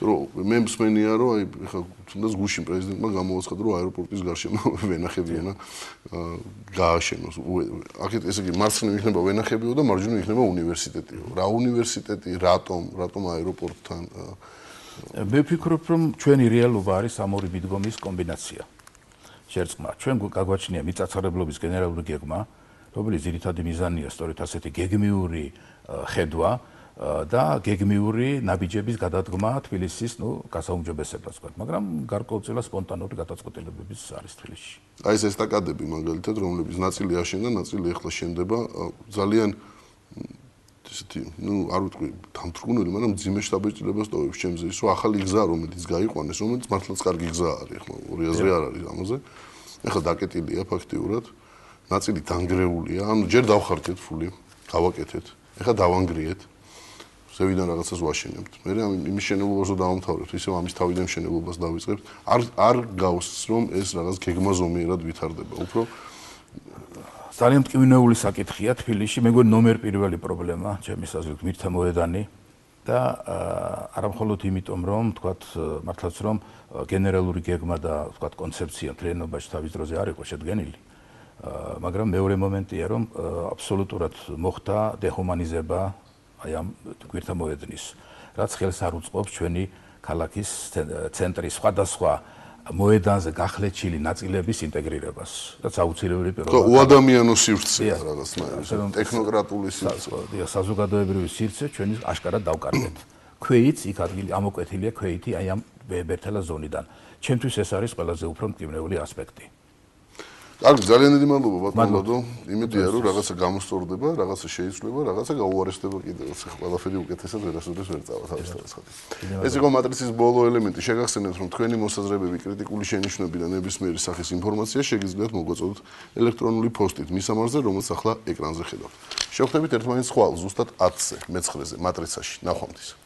რომ მე მსმენია რომ აი ხა თუნდაც გუშინ პრეზიდენტმა გამოაცხადა რომ აეროპორტის გარშემო ვენახებიანა გააშენოს აქეთ ესე იგი მარცხნივ იქნება ვენახებიო და მარჯვნივ იქნება უნივერსიტეტიო რა უნივერსიტეტი რატომ რატომ აეროპორტთან მე ვფიქრობ რომ ჩვენი რეალობა არის ამ ორი მიდგომის კომბინაცია შერწყმა ჩვენ გაგვაჩნია მიწათმოქმედების გენერალური გეგმა რომელიც ძირითადი მიზანია სწორედ ასეთი გეგმიური ხედვა და გეგმიური ნაბიჯების გადადგმა თბილისის, ნუ, გასაუმჯობესებას ვთქვათ, მაგრამ გარკვეულწილად სპონტანური გადაწყვეტილებების არის თბილისში. აი ეს ესტაკადები მაგალითად, რომლებიც ნაწილი აშენდა, ნაწილი ეხლა შენდება, ძალიან ესეთი, ნუ, არ ვიტყვი, დამთრგუნელი, მაგრამ მძიმე შთაბეჭდილებას ტოვებს ჩემზე ის, რომ ახალი გზა, რომელიც გაიყვანეს, რომელიც მართლაც კარგი გზა არის, ეხლა ორი აზრი არ არის ამაზე. ეხლა დაკეტილია ფაქტიურად, ნაწილი დანგრეულია, ანუ ჯერ დავხარჯეთ ფული, გავაკეთეთ, ეხლა დავანგრიეთ. ზევიდან რაღაცას ვაშენებთ. მე იმის შენებლობას რო დავამთავრებთ, ისევ ამის თავიდან შენებლობას დავიწყებთ. არ არ გავს რომ ეს რაღაც გეგმაზომიერად ვითარდება. უფრო ძალიან მტკივნეული საკითხია თბილისში. მე მგონი ნომერ პირველი პრობლემა, ჩემის აზრით, მირთა მოედანი და არა მხოლოდ იმიტომ, რომ თქვათ მართლაც რომ გენერალური გეგმა და თქვათ კონცეფცია მთლიანობაში თავის დროზე არ იყო შედგენილი. მაგრამ მეორე მომენტია, რომ აბსოლუტურად მოხდა დეჰუმანიზება აი ამ გვერდთა მოედნის, რაც ხელს არ უწყობს ჩვენი ქალაქის ცენტრის სხვადასხვა მოედანზე გახლეჩილი ნაწილების ინტეგრირებას. რაც აუცილებელი პირობაა. ხო, უადამიანო სივრცეა რაღაცნაირად, ტექნოკრატული სივრცე. დიახ, საზოგადოებრივი სივრცე ჩვენი აშკარად დავკარგეთ. ქვეით იქ ადგილი ამოკვეთილია ქვეითი აი ამ ბერთელა ზონიდან. ჩემთვის ეს არის ყველაზე უფრო მტკივნეული ასპექტი. კარგი, ძალიან დიდი მადლობა ბატონო. იმედია რომ რაღაცა გამოსწორდება, რაღაცა შეიცვლება, რაღაცა გაუარესდება კიდევ. ყველაფერი უკეთესად ვერასოდეს ვერ წავა თავის თავისხად. ეს იყო მატრიცის ბოლო ელემენტი. შეგახსენებთ რომ თქვენი მოსაზრებები, კრიტიკული შენიშვნები და ნებისმიერი სახის ინფორმაცია შეგიძლიათ მოგვაწოდოთ ელექტრონული პოსტით მისამართზე, რომელსაც ახლა ეკრანზე ხედავთ. შევხვდებით ერთმანეთს ხვალ ზუსტად ათზე მეცხრეზე მატრიცაში. ნახვამდის.